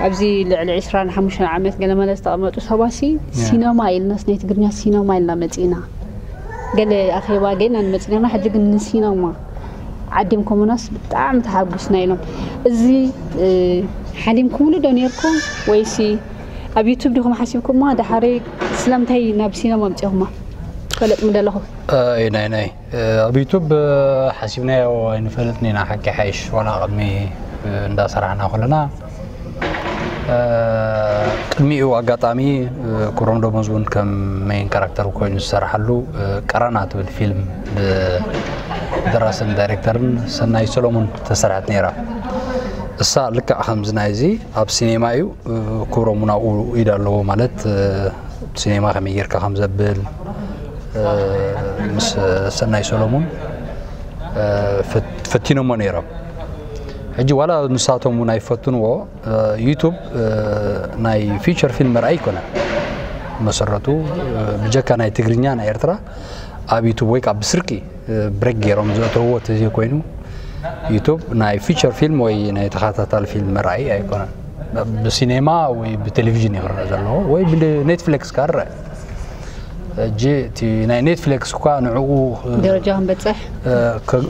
ኣብዚ ልዕሊ ዕስራን ሓሙሽተን ዓመት ገለመለ ዝተቐመጡ ሰባት ሲ ያ። ሲነማ ኢልናስ ናይ ትግርኛ ሲነማ ኢልና መጺና። ገለ ኣኼባ ጌና ንመጺና፣ ሕጂ ግን ንሲነማ ዓዲምኩምናስ ብጣዕሚ ተሓጒስና ኢሎም። እዚ፣ እ፣ ሓሊምኩምሉ ዶ ኔርኩም ወይሲ ኣብ ዩቱብ ዲኹም ሓሲብኩማ? ደሓሪ ስለምንታይ ናብ ሲነማ ኣምጺኹማ? ፈለጥኩም ደለኹም? እ፣ ናይ፣ ናይ፣ እ፣ ኣብ ዩቱብ፣ እ፣ ሓሲብናዮ ኣይንፈልጥን ኢና፣ ሓቂ ሓይሽ፣ ዋላ ቅድሚ፣ እ፣ እንዳሰራሕና ከለና። እ፣ ቅድሚኡ ኣጋጣሚ፣ እ፣ ክብሮም ደሞዝ እውን ከም ሜይን ካራክተር ኮይኑ ዝሰራሓሉ፣ እ፣ ቀራና ትብል ፊልም ብደራስን ዳይሬክተርን ሰናይ ሰሎሙን ተሰርሐት ነይራ። እሳ ልክዕ ከምዚ ናይዚ ኣብ ሲኔማ እዩ፣ እ፣ ክብሮም እውን ኣብኡ ኢድ ኣለዎ ማለት፣ እ፣ ሲኔማ ከመይ ጌርካ ከም ዘብል፣ እ፣ ምስ ሰናይ ሰሎሙን፣ እ፣ ፈት-፣ ፈቲኖሞ ነይሮም። ሕጂ ዋላ ንሳቶም እውን ኣይፈትንዎ፣ እ፣ ዩቱብ፣ እ፣ ናይ ፊቸር ፊልም መርኣይ ኣይኮነን። መሰረቱ፣ እ፣ ብጀካ ናይ ትግርኛ፣ ናይ ኤርትራ ኣብ ዩቱብ ወይ ከዓ ብስርቂ፣ እ፣ ብሬክ ገይሮም ዘእተውዎ ተዘይኮይኑ፣ ዩቱብ ናይ ፊቸር ፊልም ወይ ናይ ተኸታታሊ ፊልም መርኣይ ኣይኮነን። ብሲኔማ ወይ ብቴሌቪዥን እዩ ክረአ ዘለዎ ወይ ብኔትፍሊክስ ከዓ ይረአ። ሕጂ እቲ ናይ ኔትፍሊክስ እኳ ንዕኡ ደረጃ ክንበፅሕ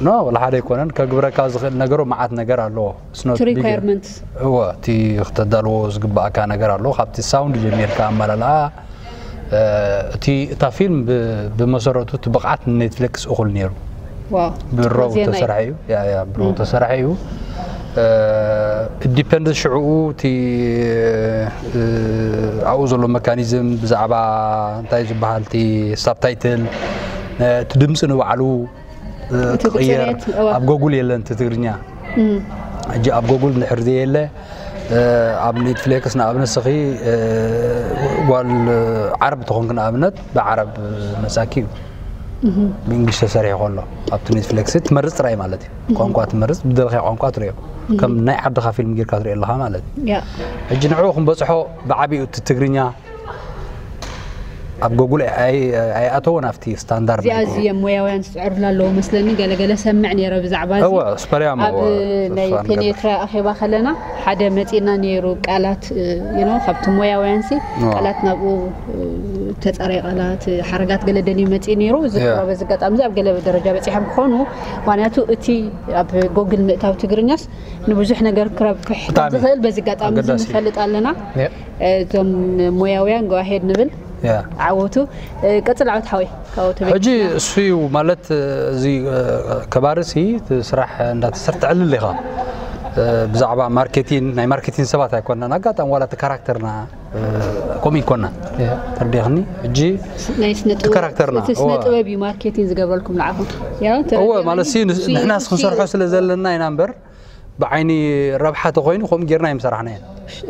ኖ ወላ ሓደ ኣይኮነን። ከግብረካ ዝኽእል ነገሩ መዓት ነገር ኣለዎ። It's not እቲ big- requirement እወ፣ እቲ ክተዳልዎ ዝግባእካ ነገር ኣሎ። ካብቲ ሳውንድ ጀሚርካ ኣመላልኣ፣ እ፣ እቲ እታ ፊልም ብ- ብመሰረቱ እቲ ብቕዓት ንኔትፍሊክስ እኹል ነይሩ። ዋው ብሮ ዜና እዩ። ተሰርሐ እዩ። ያ ያ ብሮ ተሰርሐ እዩ። ዲፐንድ ሽዕኡ እቲ እ፣ ኣብኡ ዘሎ መካኒዝም ብዛዕባ እንታይ ዝበሃል እቲ ሳብታይትል፣ እ፣ እቲ ድምፂ ንባዕሉ እ፣ እቲ ክቕየር ብፅሬት፣ እወ። ኣብ ጎጉል የለን እቲ ትግርኛ። ሕጂ ኣብ ጎጉል እንድሕር ዘየለ፣ እ፣ ኣብ ኔትፍሊክስ ንኣብነት ስኺ፣ እ፣ ጓል ዓረብ ተኾንክ ንኣብነት ብዓረብ መጻኪ እዩ። ብእንግሊሽ ተሰሪሑ ከሎ ኣብቲ ኔትፍሊክስ ትመርጽ ጥራይ ማለት እዩ። ቋንቋ ትመርጽ፣ ብደለኻዮ ቋንቋ ትሪኦ። ከም ናይ ዓድኻ ፊልም ጌርካ ትሪኦ ኣለኻ ማለት እዩ። ያ ሕጂ ንዕኡ ክንበጽሖ ብዓቢኡ እቲ ትግርኛ ኣብ ጎጉል ኣይ- ኣይኣተወን ኣብቲ ስታንዳርድ እዚኣ ናይ እዚ እዮም ሞያውያን ዝፅዕሩላ ኣለዉ መስለኒ። ገለገለ ሰምዕ ነይረ ብዛዕባ እዚ። እወ፣ ስፐርያም ኣብ እወ፣ ናይ ተስፋ ንገብር። ፔኔትራ ኣኼባ ከለና ሓደ መፂና ነይሩ። ቃላት ዩ ኖ ካብቲ ሞያውያን ሲ እወ። ቃላት ናብኡ እ፣ ተፃራይ ቃላት እ፣ ሓረጋት ገለ ደልዩ መፂኡ ነይሩ። እዚ እወ። ቁራ በዚ ኣጋጣሚ እዚ ኣብ ገለ ደረጃ በፂሖም ክኾኑ፣ ምክንያቱ እቲ ኣብ ጎግል ምእታው ትግርኛስ ንብዙሕ ነገር ክረብሕ ብጣዕሚ ዝኽእል በዚ ኣጋጣሚ እዚ ኣገዳሲ። ንፈልጥ ኣለና። ያ። እዞም ሞያውያን ጎ ኣሄድ ንብል። ያ ዓወቱ እ፣ ቀፅል ዓወት ሓወይ ካብኡ ተበጊስና። ሕጂ እሱ እዩ ማለት እዚ እ፣ ከባርሲ እቲ ስራሕ እንዳተሰርተዐልል ኢኻ። እ፣ ብዛዕባ ማርኬቲን ናይ ማርኬቲን ሰባት ኣይኮናን። ኣጋጣሚ ዋላ እቲ ካራክተርና እ፣ ከምኡ ይኮና ያ። ተርዲኽኒ። ሕጂ ናይ ስነ እቲ ካራክተርና፣ እቲ ስነ እወ። ጥበብ እዩ ማርኬቲንግ ዝገበርኩም ንዓኹም። ያ፣ እወ ተረዲእኒ። ማለት ሲ እሱ እዩ፣ ንሕናስ እሱ ክንሰርሖ እዩ። ስለ ዘለና ኢና እምበር ብዓይኒ ረብሓ ተኮይኑ ከምኡ ጌርና ኣይምሰራሕናየን።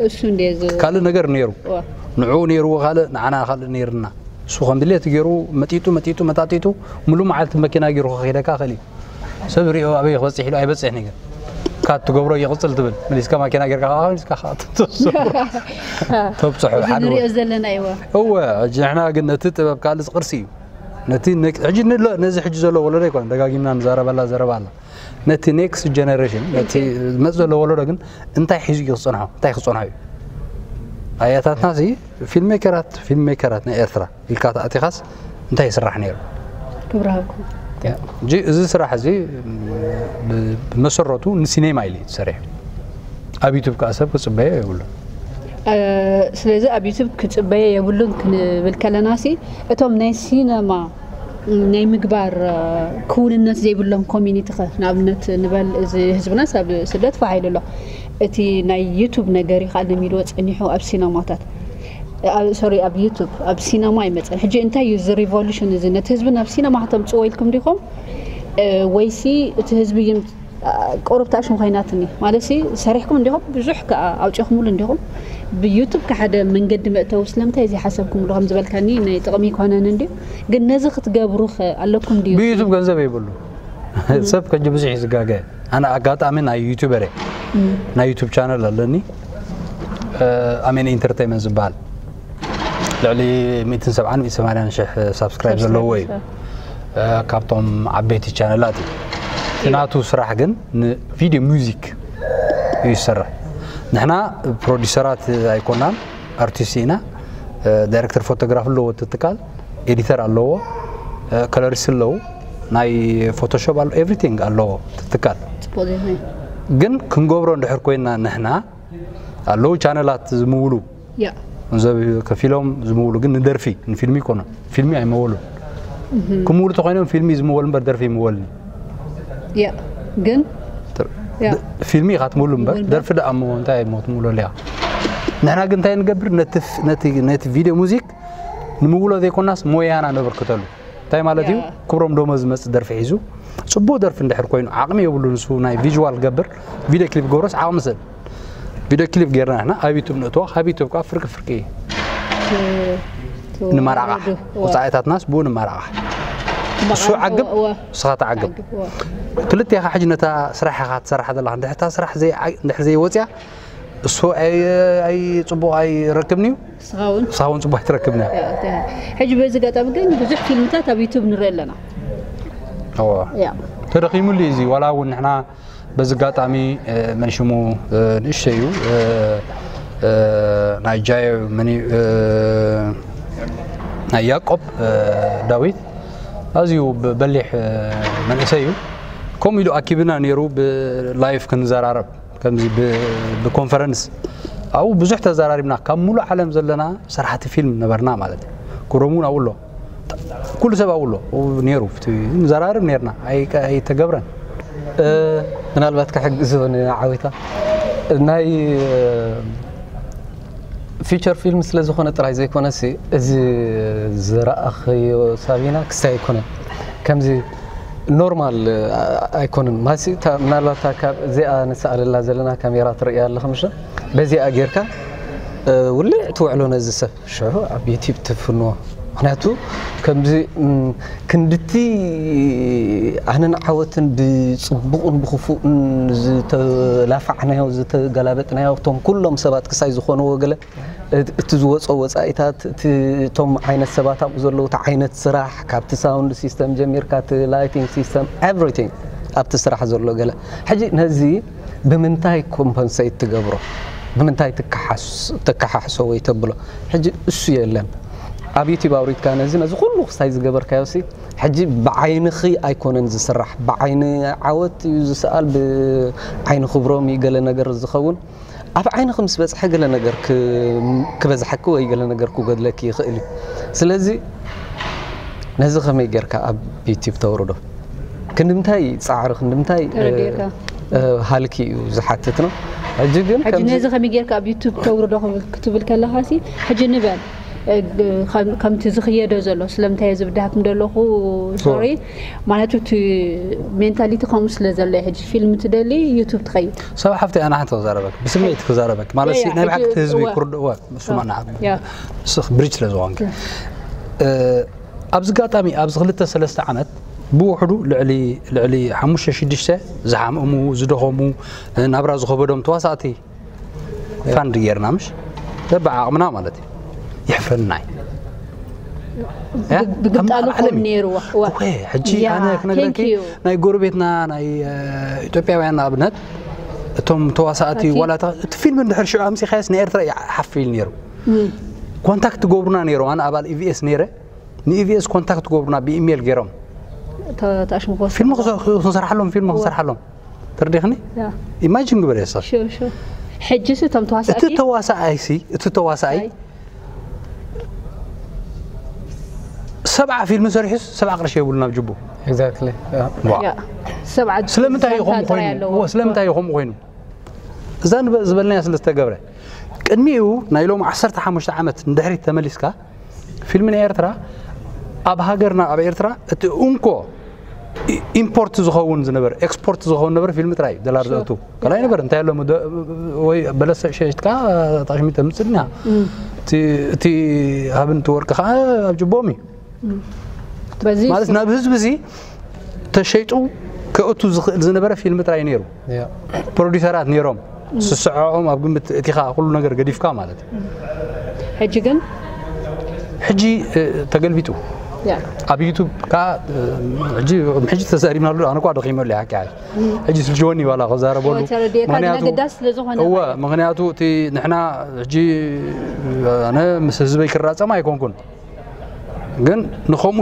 እሱ እንደ ዝ- ካልእ ነገር ነይሩ እወ። ንዕኡ ነይርዎ ካልእ ንዓና ካልእ ነይርና። እሱ ከም ድሌት ገይሩ መጢጡ መጢጡ መጣጢጡ ሙሉ መዓልቲ መኪና ገይሩ ከኺደካ ክእል እዩ። ሰብ ሪኦ ኣበይ ክበፅሕ ኢሉ ኣይበፅሕን እዩ። ግን ካብ ትገብሮ ይቕፅል ትብል መሊስካ ማኪና ጌርካ ከዓ መሊስካ ከዓ ተብፅሖ እዚ ሓደ ንሪኦ ዘለና እይወ እወ። ሕጂ ንሕና ግን ነቲ ጥበብ ካልእ ቅርሲ እዩ። ነቲ ነክ- ሕጂ ንሎ ነዚ ሕጂ ዘሎ ወለዶ ኣይኮነ ደጋጊምና ንዛረበላ ዘረባ ኣላ። ነቲ ኔክስት ጀነሬሽን ነቲ ዝመፅ ዘሎ ወለዶ ግን እንታይ ሒዙ እዩ ክፀንሖ? እንታይ ክፀንሖ እዩ? ኣያታትና ሲ ፊልም ሜከራት ፊልም ሜከራት ናይ ኤርትራ ኢልካ ተኣቲኻስ እንታይ ይስራሕ ነይሩ? ክብሪ ሃብኩም። እንጂ እዚ ስራሕ እዚ ብ- ብመሰረቱ ንሲኔማ ኢሉ እዩ ተሰሪሑ። ኣብ ዩቱብ ከዓ ሰብ ክፅበዮ የብሉን። እ፣ ስለዚ ኣብ ዩቱብ ክፅበዮ የብሉን ክንብል ከለና ሲ እቶም ናይ ሲነማ ናይ ምግባር እ፣ ክውንነት ዘይብሎም ኮሚኒቲ ኸ ንኣብነት ንበል እዚ ህዝብናስ ኣብ ስደት ፋሕ ኢሉ ኣሎ። እቲ ናይ ዩቱብ ነገር እዩ ከዓ ለሚድዎ ፀኒሑ ኣብ ሲነማታት ሶሪ ኣብ ዩቱብ ኣብ ሲነማ ኣይመፀን። ሕጂ እንታይ እዩ እዚ ሪቮሉሽን እዚ ነቲ ህዝቢ ናብ ሲነማ ከተምፅዎ ኢልኩም ዲኹም? እ፣ ወይሲ እቲ ህዝቢ እዩ ቁሩብ ታሽሙ ኮይናትኒ ማለት ሲ ሰሪሕኩም እንዲኹም ብዙሕ ከኣ ኣውፂኹምሉ እንዲኹም ብዩቱብ ከሓደ መንገዲ መእተዊ ስለምንታይ እዚ ሓሰብኩምሉ ከም ዝበልካኒ ናይ ጥቕሚ ይኮነን እንድዩ ግን ነዚ ክትገብሩ ኸ ኣለኩም ድዩ ብዩቱብ ገንዘብ የብሉ ሰብ ከጂ ብዙሕ እዩ ዝጋገ ኣነ ኣጋጣሚ ናይ ዩቱበር እየ ናይ ዩቱብ ቻነል ኣለኒ ኣሜን ኢንተርቴንመንት ዝበሃል ልዕሊ ሚእትን ሰብዓን ሚእትን ሰማንያን ሽሕ ሳብስክራይብ ዘለዎ እዩ እ፣ ካብቶም ዓበይቲ ቻነላት እዩ እቲ ናቱ ስራሕ ግን ንቪድዮ ሙዚክ እዩ ዝሰርሕ ንሕና ፕሮዲሰራት ኣይኮናን ኣርቲስት ኢና እ፣ ዳይሬክተር ፎቶግራፍ ኣለዎ እቲ ትካል ኤዲተር ኣለዎ እ፣ ከለሪስት ኣለዉ ናይ ፎቶሾፕ ኣሎ ኤቭሪቲንግ ኣለዎ እቲ ትካል ፅቡቅ ዜና እዩ ግን ክንገብሮ እንድሕር ኮይና ንሕና ኣለዉ ቻነላት ዝምውሉ ያ ገንዘብ ከፊሎም ዝምውሉ ግን ንደርፊ ንፊልሚ ይኮኑ ፊልሚ ኣይመወሉን ክምውሉ ተኮይኖም ፊልሚ ዝምወል እምበር ደርፊ ይምወልን ያ ግን ያ ፊልሚ ኢኻ ትምውሉ እምበር ምውል ደርፊ ደኣ እሞ እንታይ እሞ ትምውሉ ኣለኻ ንሕና ግን እንታይ ንገብር ነቲ ፍ- ነቲ ነቲ ቪድዮ ሙዚክ ንምውሎ ዘይኮናስ ሞያና ነበርክተሉ እንታይ ማለት እዩ ያ። ክብሮም ዶሞ ዝመፅእ ደርፊ ሒዙ ፅቡቅ ደርፊ እንድሕር ኮይኑ ዓቕሚ የብሉ ንሱ ናይ ቪዥዋል ክገብር ቪድዮ ክሊፕ ገብሮስ ዓቕሚ ሰብ ቪድዮ ክሊፕ ጌርና ንሕና ኣብ ዩቱብ ንእትዋ ካብ ዩቱብ ከዓ ፍርቂ ፍርቂ እዩ ንመራቓሕ ወፃኢታትናስ ብኡ ንመራቓሕ እሱ ዓግብ ንስኻ ተዓግብ ክልቲኻ ሕጂ ነታ ስራሕ ኢኻ ትሰርሓ ዘለኻ እንድሕር እታ ስራሕ ዘይ- እንድሕር ዘይወፅያ እሱ ኣይ- ኣይ- ፅቡቕ ኣይረክብን እዩ ንስኻ እውን ንስኻ እውን ፅቡቕ ኣይትረክብን እያ ያ፣ ተ- ሕጂ በዚ ኣጋጣሚ ግን ብዙሕ ፊልምታት ኣብ ዩቱብ ንርኢ ኣለና እወ። ያ ተደኺሙሉ እዩ እዚ ዋላ እውን ንሕና በዚ ኣጋጣሚ እ፣ መን ሽሙ እ፣ ንእሽተይ እዩ እ፣ እ፣ ናይ ጃዮ መን እዩ እ፣ ናይ ያዕቆብ ዳዊት ኣዝዩ በሊሕ መንእሰይ እዩ። ከምኡ ኢሉ ኣኪብና ነይሩ ብላይፍ ክንዘራረብ፣ ከምዚ ብኮንፈረንስ ኣብኡ ብዙሕ ተዘራሪብና። ካብ ሙሉእ ዓለም ዘለና ሰራሕቲ ፊልም ነበርና ማለት እዩ። ክብሮም እውን ኣብኡ ኣሎ፣ ኩሉ ሰብ ኣብኡ ኣሎ ነይሩ። ንዘራርብ ነርና፣ ኣይተገብረን። ምናልባት ክሕግዝ ይሆን ዓዊታ ናይ ፊቸር ፊልም ስለ ዝኾነ ጥራይ ዘይኮነሲ፣ እዚ ዝረኣኽዮ ሳቢና ክስታይ ኣይኮነን። ከምዚ ኖርማል ኣይኮነን። ማሲ ምናልባት ካብ እዚኣ ንስኣለላ ዘለና ካሜራ ትርእያ ኣለኻ ምሽ? በዚኣ ጌርካ ውልዕ ትውዕሎ ነዚ ሰብ ሽዑ ኣብ ዩቲብ ትፍንዎ። ምክንያቱ ከምዚ ክንድቲ ኣነን ዓወትን ብፅቡቕን ብክፉእን ዝተላፋዕናዮ ዝተገላበጥናዮ እቶም ኩሎም ሰባት ክሳይ ዝኾንዎ ገለ እቲ ዝወፆ ወፃኢታት እቶም ዓይነት ሰባት ኣብኡ ዘለዉ እቲ ዓይነት ስራሕ ካብቲ ሳውንድ ሲስተም ጀሚርካ እቲ ላይቲንግ ሲስተም ኤቭሪቲንግ ኣብቲ ስራሕ ዘሎ ገለ ሕጂ ነዚ ብምንታይ ኮምፐንሰይት ትገብሮ ብምንታይ ትከሓሕሶ ወይ ተብሎ ሕጂ እሱ የለን ኣብ ዩቲብ ኣውሪድካ ነዚ ነዚ ኩሉ ክሳይ ዝገበርካዮ ሲ ሕጂ ብዓይንኺ ኣይኮነን ዝስራሕ ብዓይኒ ዓወት እዩ ዝሰኣል ብዓይኒ ክብሮም እዩ ገለ ነገር ዝኸውን ኣብ ዓይንኺ ምስ በፅሐ ገለ ነገር ክበዝሐኪ ወይ ገለ ነገር ክጎድለኪ ይኽእል እዩ ስለዚ ነዚ ከመይ ጌርካ ኣብ ዩቲብ ተውርዶ ክንድምታይ ፃዕሪ ክንድምታይ ሃልኪ እዩ ዝሓትት ነው ሕጂ ግን ሕጂ ነዚ ከመይ ጌርካ ኣብ ዩቱብ ተውርዶ ክትብል ከለኻ ሲ ሕጂ ንበል ከምቲ ዝኽየዶ ዘሎ ስለምንታይ ዝብድሃኩም ዘለኹ ሶሪ ማለት እቲ ሜንታሊቲ ከምኡ ስለ ዘሎ ሕጂ ፊልም ትደሊ ዩቱብ ትኸይድ ሰብ ሓፍቲ ኣና ሓንቲ ክዛረበክ ብስምዒት ክዛረበክ ማለት ናይ ብሓቂ ህዝቢ ክርድእዎ ስማና ስኽ ብሪጅ ስለ ዝኾንክ ኣብዚ ኣጋጣሚ ኣብዚ ክልተ ሰለስተ ዓመት ብውሕዱ ልዕሊ ልዕሊ ሓሙሽተ ሽዱሽተ ዝሓምእሙ ዝደኸሙ ናብራ ዝኸበዶም ተዋሳእቲ ፋንድ ጌርና ምሽ በብዓቕምና ማለት እዩ የሕፍረና እዩ ብግጣሉ ክኾን ነይርዎ ሕጂ ኣነ ክነግረኪ ናይ ጎረቤትና ናይ ኢትዮጵያውያን ንኣብነት እቶም ተዋሳእቲ ዋላ እቲ ፊልም እንድሕር ሽዑ ኣምፂኻየስ ናይ ኤርትራ ሓፍ ኢል ነይሩ ኮንታክት ትገብሩና ነይሮም ኣነ ኣባል ኢቪኤስ ነይረ ንኢቪኤስ ኮንታክት ትገብሩና ብኢሜይል ገይሮም ፊልም ክንሰርሓሎም ፊልም ክንሰርሓሎም ተረዲኽኒ ኢማጂን ግበር የሰብ ሕጂ ሲ እቶም ተዋሳእቲ እቲ ተዋሳኣይ ሲ እቲ ተዋሳኣይ ሰብዓ ፊልም ሰሪሑ ሰብዓ ቅርሺ የብሉ ናብ ጅቡ ስለምንታይ እዩ ከምኡ ኮይኑ እዛ ዝበልናያ ስለ ዝተገብረ ቅድሚኡ ናይ ሎም ዓሰርተ ሓሙሽተ ዓመት ንድሕሪት ተመሊስካ ፊልሚ ናይ ኤርትራ ኣብ ሃገርና ኣብ ኤርትራ እቲ እንኮ ኢምፖርት ዝኸውን ዝነበረ ኤክስፖርት ዝኸውን ነበረ ፊልሚ ጥራይ እዩ ደላር ዘእቱ ካልኣይ ነበር እንታይ ኣሎ ወይ በለስ ሸሽትካ ጣሽሚ ተምፅልና እቲ ሃብን እቲ ወርቂ ከዓ ኣብ ጅቦም እዩ ማለት ናብ ህዝቢ እዚ ተሸይጡ ከእቱ ዝኽእል ዝነበረ ፊልሚ ጥራይ ነይሩ ፕሮዲሰራት ነይሮም ስስዐኦም ኣብ ግምት እቲኻ ኩሉ ነገር ገዲፍካ ማለት እዩ ሕጂ ግን ሕጂ ተገልቢጡ ኣብ ዩቱብ ከዓ ሕጂ ሕጂ ተዛሪብናሉ ኣነ ኳ ደኺመሉ ሓቂ ሕጂ ስልጅወኒ ዋላ ከዛረበሉ ምክንያቱ ምክንያቱ እቲ ንሕና ሕጂ ኣነ ምስ ህዝበይ ክራፀም ኣይኮንኩን ግን ንኸምኡ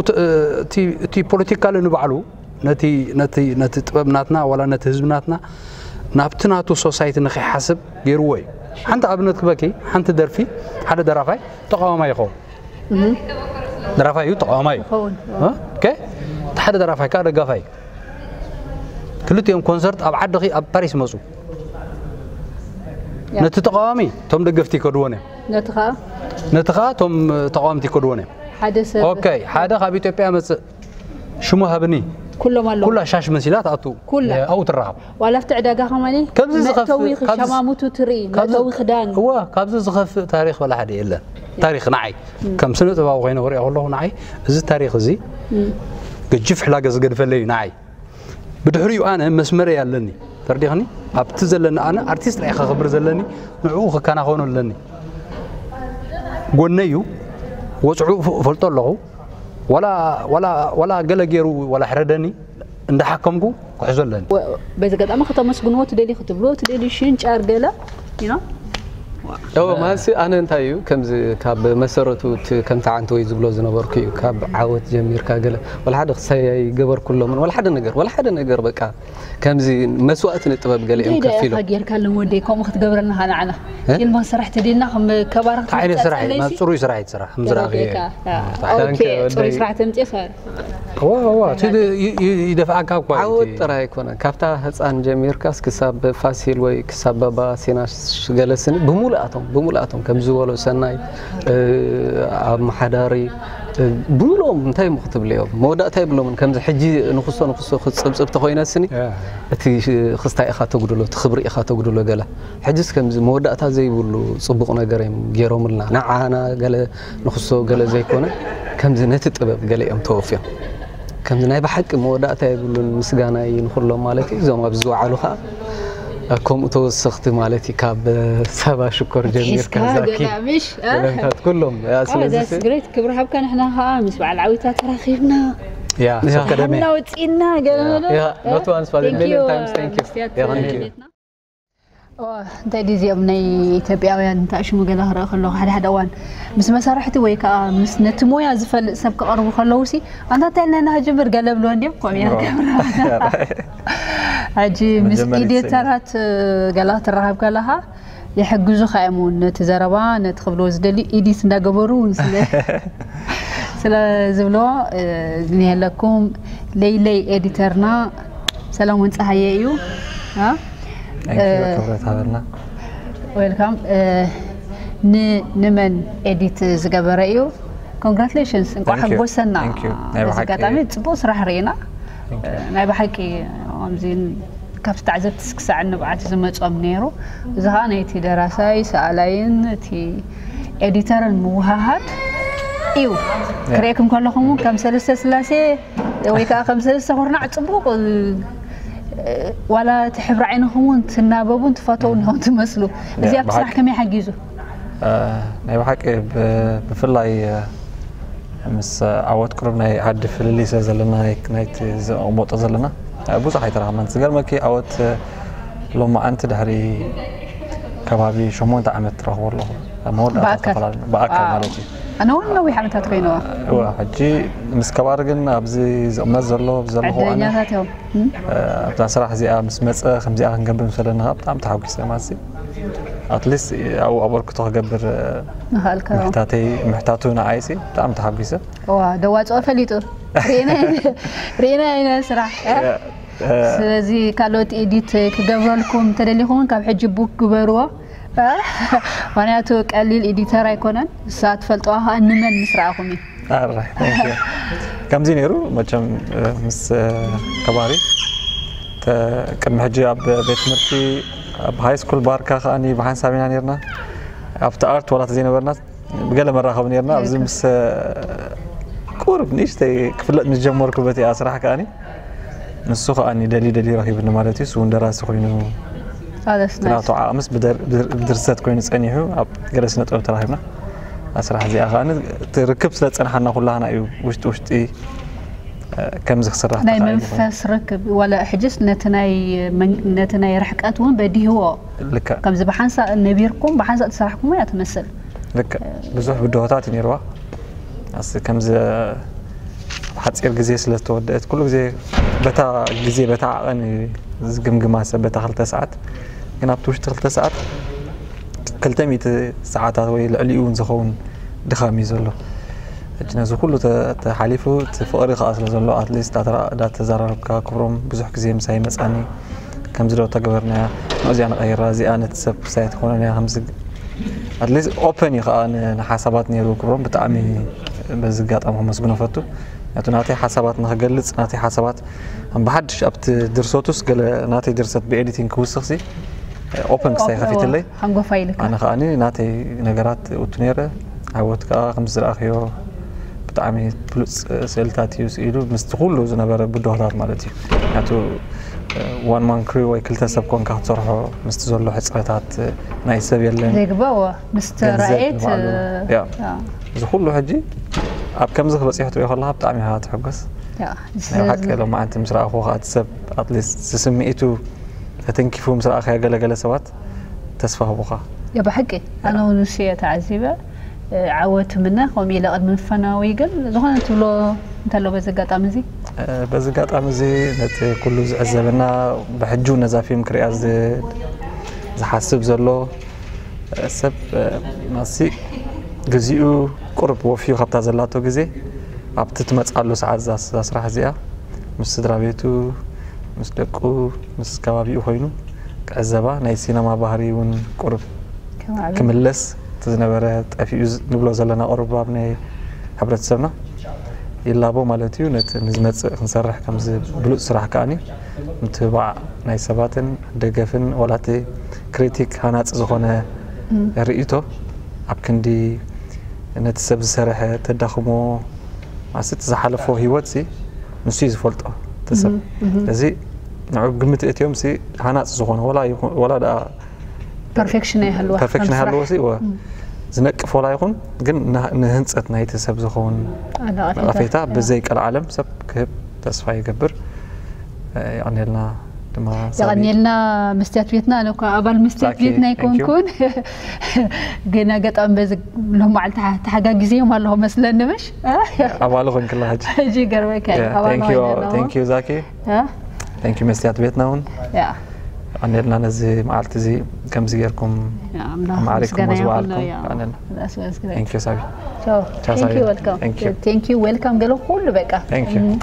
እቲ ፖለቲካሊ ንባዕሉ ነቲ ነቲ ነቲ ጥበብ ናትና ዋላ ነቲ ህዝቢ ናትና ናብቲ ናቱ ሶሳይቲ ንኸይሓስብ ገይርዎ እዩ። ሓንቲ ኣብነት ክበኪ ሓንቲ ደርፊ ሓደ ደራፋይ ተቃዋማይ ይኸውን ደራፋይ እዩ ተቃዋማይ እዩ ኦኬ እቲ ሓደ ደራፋይ ከዓ ደጋፋይ ክልቲኦም ኮንሰርት ኣብ ዓድኺ ኣብ ፓሪስ ይመፁ ነቲ ተቃዋሚ እቶም ደገፍቲ ይከድዎን እዮም ነቲ ከዓ ነቲ ከዓ እቶም ተቃወምቲ ይከድዎን እዮም ሓደ ሰብ ኦኬ ሓደ ካብ ኢትዮጵያ መፅእ ሽሙ ሃብኒ ኩሎም ኣለዉ ኩላ ሻሽ መሲላ ትኣቱ ኩላ ኣብኡ ትረኸብ ዋላ ኣብቲ ዕዳጋ ከማኒ ከምዚ ዝኸፍእ መእተዊ ካብዚ ክሸማሙቱ ትርኢ መእተዊ ክዳን እዋ ካብዚ ዝኸፍእ ታሪኽ ወላ ሓደ የለን ታሪኽ ንዓይ ከም ስነ ጥበባዊ ኮይነ ክሪኦ ከለኹ ንዓይ እዚ ታሪኽ እዚ ገጅፍ ሕላገ ዝገድፈለይ እዩ ንዓይ ብድሕሪኡ ኣነ መስመረይ ኣለኒ ተርዲኽኒ ኣብቲ ዘለኒ ኣነ ኣርቲስት ራይ ከኽብር ዘለኒ ንዕኡ ክከናኸኖ ኣለኒ ጎነይ እዩ ወፅዑ እፈልጦ ኣለኹ ዋላ ዋላ ዋላ ገለ ገይሩ ዋላ ሕረደኒ እንዳሓከምኩ ክሕዞ ኣለኒ በዚ ገጣሚ ከተመስግንዎ ትደሊ ክትብልዎ ትደሊ ሽንጫር ገለ you know እወ፣ ማለትሲ ኣነ እንታይ እዩ፣ ከምዚ ካብ መሰረቱ እቲ ከምቲ ዓንተወይ ዝብሎ ዝነበርኩ እዩ። ካብ ዓወት ጀሚርካ ገለ፣ ወላ ሓደ ክሳይ ኣይገበርኩሎምን፣ ወላ ሓደ ነገር፣ ወላ ሓደ ነገር በቃ፣ ከምዚ መስዋእቲ ንጥበብ ገለ እዮም እንታይ ደኣ ከፊሎም። ኢኻ ጌርካሎም ወደይ፣ ከምኡ ክትገብረና ኸኣ ንዓና? እ? ፊልም ክንሰርሕ ተደልና፣ ከም ከባራ እንታይ ዓይነት ስራሕ እዩ? ክትመጽእ ናብ ጽሩይ ስራሕ እዩ ትስራሕ፣ ከም ዝረኣኽዮ እዩ። ጌርካ። አ፣ ኦኬ፣ ዳንከ ጽሩይ ወደይ። ስራሕ ተምጽእ ኸ? እዋ፣ እዋ፣ እቲ ይ-፣ ይ-፣ ይደፍኣካ እኳ እዩ ዓወት እቲ ጥራይ ኣይኮነን። ካብታ ህጻን ጀሚርካስ ክሳብ ፋሲል ወይ ክሳብ ባባ ሲና ሽ-፣ ገለ ስኒ ብምሉኣቶም፣ ብምሉኣቶም ከም ዝበሎ ሰናይ፣ እ፣ ኣመሓዳሪ፣ እ፣ ብሎም እንታይ እሞ ክትብልዮም? መወዳእታ የብሎምን። ከምዚ ሕጂ ንኽሶ፣ ንኽሶ ክጽብጽብ ተኾይነ ስኒ፣ ያ። እቲ ሽ-፣ ክስታይ ኢኻ ተጉድሎ፣ እቲ ክብሪ ኢኻ ተጉድሎ ገለ። ሕጅስ ከምዚ መወዳእታ ዘይብሉ ጽቡቕ ነገር እዮም ገይሮምልና። ንዓና ገለ ንኽሶ ገለ ዘይኮነ፣ ከምዚ ነቲ ጥበብ ገለ እዮም ተወፍዮም። ከምዚ ናይ ብሓቂ መወዳእታ የብሉን፣ ምስጋናይ ንኹሎም ማለት እዩ። እዞም ኣብዚ ዝወዓሉ ኸኣ ከምኡ ተወሰኽቲ ማለት እዩ፣ ካብ ሳባ ሽኮር ጀሚርካ፣ ሒዝካ ዛኪ፣ ገለ ምሽ፣ እ? ገለንታት ኩሎም። ያ፣ ኦ፣ ስለዚ that's ሲ great። ክብሪ ሃብካ፣ ንሕና ኸኣ ምስ በዓል ዓዊታ ተራኺብና። ያ፣ ያ። ሰብ ቀደመ። ሓና ወጺእና፣ ገለ ያ። በሎ። ያ፣ እ? not once, but a Thank million you, times, thank you። መስትያት ያ፣ thank you። ቤትና። ኦ፣ እንታይ ድዩ እዚኦም ናይ ኢትዮጵያውያን ተኣሽሙ ገለ ክርኢ ከለኹ፣ ሓደ ሓደ እዋን ምስ መሳርሕቲ ወይ ከኣ ምስ ነቲ ሞያ ዝፈልጥ ሰብ ክቐርቡ ከለዉ ሲ፣ "ኣንታ እንታይ ኢልና ኢና ክጅምር?" ገለ ብልዎ እንድዮም፣ ከምኡ ኢና ኦ። ንገብር። ሕጂ ምስ መጀመሪት ኤዲተራት ገለ ክትራኸብ ከለኻ፣ ይሕግዙኻ እዮም እውን፣ ነቲ ዘረባ፣ ነቲ ክብልዎ ዝደልዩ ኤዲት እንዳገበሩ እውን ስለ፣ ስለ ዝብልዎ፣ እ፣ ዝኒሀለኩም ለይለይ ኤዲተርና ሰለሙን ጸሃየ እዩ። አ? Thank you፣ እ፣ ክብረት ሃበልና። Welcome። እ፣ ን-፣ ንመን ኤዲት ዝገበረ እዩ? Congratulations፣ እንኳዕ Thank you። ሓጎሰና። Thank you። ናይ በዚ ብሓቂ ኣጋጣሚ ጽቡቕ ስራሕ ርኢና። Thank you። እ፣ ናይ ብሓቂ ከምዚ ካብቲ ተዓዘብቲ ክሳዕ ንብዓት ዝመጾም ነይሩ። እዚ ኸኣ ናይቲ ደራሳይ፣ ሰኣላይን እቲ ኤዲተርን ምውሃሃድ እዩ። ያ። ክርእየኩም ከለኹም እውን ከም ሰለስተ ስላሴ ወይ ከኣ ከም ሰለስተ ኩርናዕ ጽቡቕ፣ እ፣ ዋላ እቲ ሕብሪ ዓይንኹም እውን ትናበቡን ትፋተዉን ኢኹም ትመስሉ። ያ፣ እዚኣ ኣብ ስራሕ ብሓቂ። ከመይ ሓጊዙ? እ፣ ናይ ብሓቂ ብ-፣ ብፍላይ፣ እ፣ ምስ ዓወት ቅሩብ ናይ ዓዲ ፍልልይ ስለ ዘለና፣ ናይ፣ ናይቲ ዘቕመጦ ዘለና፣ እ፣ ብዙሕ ኣይተራኸብናን። ዝገርመኪ ዓወት፣ እ፣ ሎማዓንቲ ድሕሪ ከባቢ ሸሞንተ ዓመት ትረኽቦ ኣለኹ። መወዳእታ ብኣካል? ዝተፈላለዩ፣ ብኣካል ዋው። ማለት እዩ። ኣነ እውን ነዊሕ ዓመታት ኮይነዋ። እዋ፣ ሕጂ ምስ ከባሪ ግን ኣብዚ ዝቕመጥ ዘሎ፣ ኣብዚ ዘለኹ ኣነ፣ ዕድለኛታት እዮም። እም? እ፣ ኣብዛ ስራሕ እዚኣ ምስ መጸ፣ ከምዚኣ ክንገብር ምስ በለኒ ኸኣ ብጣዕሚ ተሓጒሰ ማለት እዩ። At least ኣብኡ ኣበርክቶ ክገብር፣ እ፣ ምኽኣልካ። ምሕታተይ፣ ምሕታቱ ንዓይሲ ብጣዕሚ ተሓጒሰ። እዋ፣ ደዋፅኦ ፈሊጡ። ርኢና፣ ርኢና ኢና ስራሕ። እ፣ እ። ስለዚ ካልኦት ኤዲት ክገብረልኩም ተደሊኹም ካብ ሕጂ ቡክ ግበርዎ። እ? ምኽንያቱ ቀሊል ኤዲተር ኣይኮነን። ንሳ ትፈልጥዋ ኸኣ ንመን ምስ ረኣኹም እዩ። ኣረ፣ thank you። ከምዚ ነይሩ መቸም፣ እ፣ ምስ፣ እ፣ ከባሪ ተ-፣ ቅድሚ ሕጂ ኣብ ቤት ትምህርቲ ኣብ ሃይ ስኩል ባርካ ከኣኒ ብሓንሳብ ኢና ነይርና። ኣብቲ ኣርት ዋላ ተዘይነበርና ብገለ መራኸቢ ነይርና። ኣብዚ ምስ፣ እ፣ ቁሩብ ንእሽተይ ክፍለጥ ምስ ጀመርኩ በቲኣ ስራሕ ከኣኒ ንሱ ከኣኒ ደልዩ ደልዩ ረኺቡኒ ማለት እዩ። እሱ እውን ደራሲ ኮይኑ Oh, that's እቲ nice። ናቱ ዓቕምስ ብደር-፣ ብድር-፣ ብድርሰት ኮይኑ ጸኒሑ ኣብ ገለ ስነ ጥበብ ተራኺብና። ኣብ ስራሕ እዚኣ ከኣ እቲ ርክብ ስለ ዝጸንሓና ኩላህና እዩ ውሽጢ ውሽጢ፣ እ፣ ከምዚ ክስራሕ ናይ ተኻኢሉ። መንፈስ ርክብ፣ ዋላ ሕጅስ ነቲ ናይ መን-፣ ነቲ ናይ ርሕቀት እውን በዲህዎ። ልክዕ። ከምዚ ብሓንሳእ ነቢርኩም፣ ብሓንሳእ ተሰራሕኩሞ እያ ትመስል። ልክዕ። ብዙሕ ብድሆታት እዩ ነይርዋ። ኣስ-፣ ከምዚ ኣብ ሓጺር ግዜ ስለ ዝተወደአት፣ ኩሉ ግዜ በታ ግዜ፣ በታ ዓቐን እዩ ዝግምግማ ሰብ፣ በታ ክልተ ሰዓት። ግን ኣብቲ ውሽጢ ክልተ ሰዓት ክልተ ሚእቲ ሰዓታት ወይ ልዕሊኡ እውን ዝኸውን ድኻም እዩ ዘሎ። ሕጂ ነዚ ኩሉ ተ-፣ ተሓሊፉ፣ እቲ ፍቕሪ ከኣ ስለ ዘሎ፣ ኣትሊስት እንዳተራ-፣ እንዳተዘራረብካ፣ ክብሮም ብዙሕ ግዜ ምሳይ መጻኒ፣ ከምዚ ዶ ተገበርናያ፣ እዚኣ ንቐይራ፣ እዚኣ ነቲ ሰብ ክሳይ ትኾነን እያ፣ ከምዚ ኣትሊስት ኦፐን እዩ ከኣ ን-፣ ንሓሳባት ነይሩ ክብሮም። ብጣዕሚ በዚ ኣጋጣሚ ከመስግኖ ፈቱ። ምክንያቱ ናተይ ሓሳባት ንኽገልጽ፣ ናተይ ሓሳባት ብሓድሽ ኣብቲ ድርሰቱስ ገለ ናተይ ድርሰት ብኤዲቲንግ ክውስኽሲ ኦፐን ክሳይ ኦፕ-፣ ከፊትለይ። ሓንጎፋይ ኢልካ። ኣነ ከኣኒ ናተይ ነገራት እውቱ ነይረ። ዓወት ከኣ ከም ዝረኣኽዮ ብጣዕሚ ብሉጽ ስእልታት እዩ ስኢሉ፣ ምስቲ ኩሉ ዝነበረ ብድሆታት ማለት እዩ። ምክንያቱ፣ እ፣ ዋን ማን ክሩ ወይ ክልተ ሰብ ኮንካ ክትሰርሖ ምስቲ ዘሎ ሕጽረታት፣ እ፣ ናይ ሰብ የለን። ዘይግባእ፣ እወ፣ ምስቲ ገንዘብ ራእየት፣ ንባዕሉ፣ እ፣ ያ። ያ። እዚ ኩሉ ሕጂ ኣብ ከምዚ ክበጽሕ ትሪኦ ከለኻ ብጣዕሚ ኢኻ ትሕጎስ። ያ፣ ናይ ብሓቂ ሎማዓንቲ ምስ ረኣኹ ከኣ እቲ ሰብ ኣትሊስት ስምዒቱ ተተንኪፉ ምስ ረኣኻዮ ገለገለ ሰባት ተስፋ ህቡኻ። ብሓቂ ኣነ እውን ንሱ እየ ተዓዚበ። ዓወት ምነ ከምኡ ኢለ ቅድሚ ምፍናዊ ግን ዝኾነ ትብሎ እንተሎ በዚ ኣጋጣሚ እዚ? በዚ ኣጋጣሚ እዚ ነቲ ኩሉ ዝዕዘበና ብሕጂ እውን ነዛ ፊልም ክሪኣ ዝ- ዝሓስብ ዘሎ ሰብ ማሲ ግዚኡ ቁርብ ወፍዩ ካብታ ዘላቶ ግዜ ኣብቲ ትመፅኣሉ ሰዓት እዛ እዛ ስራሕ እዚኣ ምስ ስድራ ቤቱ ምስ ደቁ ምስ ከባቢኡ ኮይኑ ክዕዘባ ናይ ሲነማ ባህሪ እውን ቁርብ ክምለስ እቲ ዝነበረ ጠፊኡ ንብሎ ዘለና ቁርብ ኣብ ናይ ሕብረተሰብና ይላቦ ማለት እዩ። ነቲ ንዝመፅእ ክንሰርሕ ከምዚ ብሉፅ ስራሕ ከዓኒ ምትብባዕ ናይ ሰባትን ደገፍን ዋላ እቲ ክሪቲክ ሃናፂ ዝኾነ ርእይቶ ኣብ ክንዲ ነቲ ሰብ ዝሰርሐ ተዳኽሞ ማለት ዝሓለፎ ህይወት ሲ ንሱ እዩ ዝፈልጦ እቲ ሰብ። እዚ ንዑ ግምት እትዮም ሲ ሃናፂ ዝኾነ ዋላ ይኹ- ዋላ ደኣ ፐርፌክሽን ኣይሃልዋ ፐርፌክሽን ሃልዎ ሲ ወ ዝነቅፍ ዋላ ይኹን ግን ንህንፀት ናይቲ ሰብ ዝኸውን ነቐፌታ ብዘይ ቀልዓለም ሰብ ክህብ ተስፋ ይገብር። የቐኔልና ድማ ሳቢ። የቐኔልና መስትያት ቤትና። ኣነ እኳ ኣባል መስትያት Thank you, ቤትና thank you. ኣይኮንኩን። ግን ኣጋጣሚ በዚ ሎም በዓል ተሓጋጊዘዮም ኣለኹ መስለኒ ምሽ? ኣባል ኾንክላ ሕጂ። ሕጂ ይገርመካ እዩ። Yeah, ኣባል thank you, ኮይነ ኣለኹ። thank you ዛኪ። ያ፣ Thank you መስትያት ቤትና እውን ያ፣ የቐኔልና ነዚ መዓልቲ እዚ ከምዚ ጌርኩም ያ፣ ኣምላኽ ማዕሪኩም ምስጋና ምስ ይኹን። በዓልኩም ያ፣ የቐኔልና። that's what I was gonna Thank you ሳቢ። So, ቻው thank ሳቢ። you, welcome. Thank you. Thank you, welcome. ገለ ኩሉ በቃ። Thank you። Mm.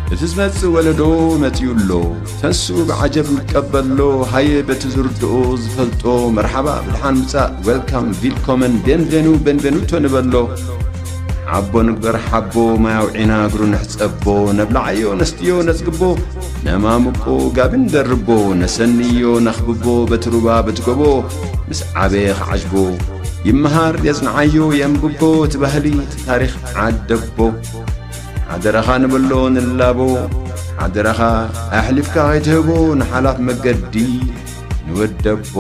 እቲ ዝመጽእ ወለዶ መጺኡ ኣሎ። ተንስኡ ብዓጀብ ንቀበሎ። ሃየ በቲ ዝርድኦ ዝፈልጦ መርሓባ ብድሓን ምጻእ። Welcome, willkommen, benvenu, benvenuto ንበሎ። ሓቦ ንግበር ሓቦ ማይ ኣውዒና እግሩ ንሕጸቦ። ነብልዓዮ ነስትዮ ነጽግቦ። ነማሙቆ ጋቢ ንደርቦ። ነሰንዮ ነኽብቦ በቲ ሩባ በቲ ጎቦ። ምስ ዓበየ ክዓጅቦ ይመሃር የጽንዓዮ የንብቦ። እቲ ባህሊ እቲ ታሪኽ ዓደቦ። ሓደራኻ ንበሎ ንላቦ። ሓደራኻ ኣሕሊፍካ ከይትህቦ ንሓላፍ መገዲ ንወደቦ።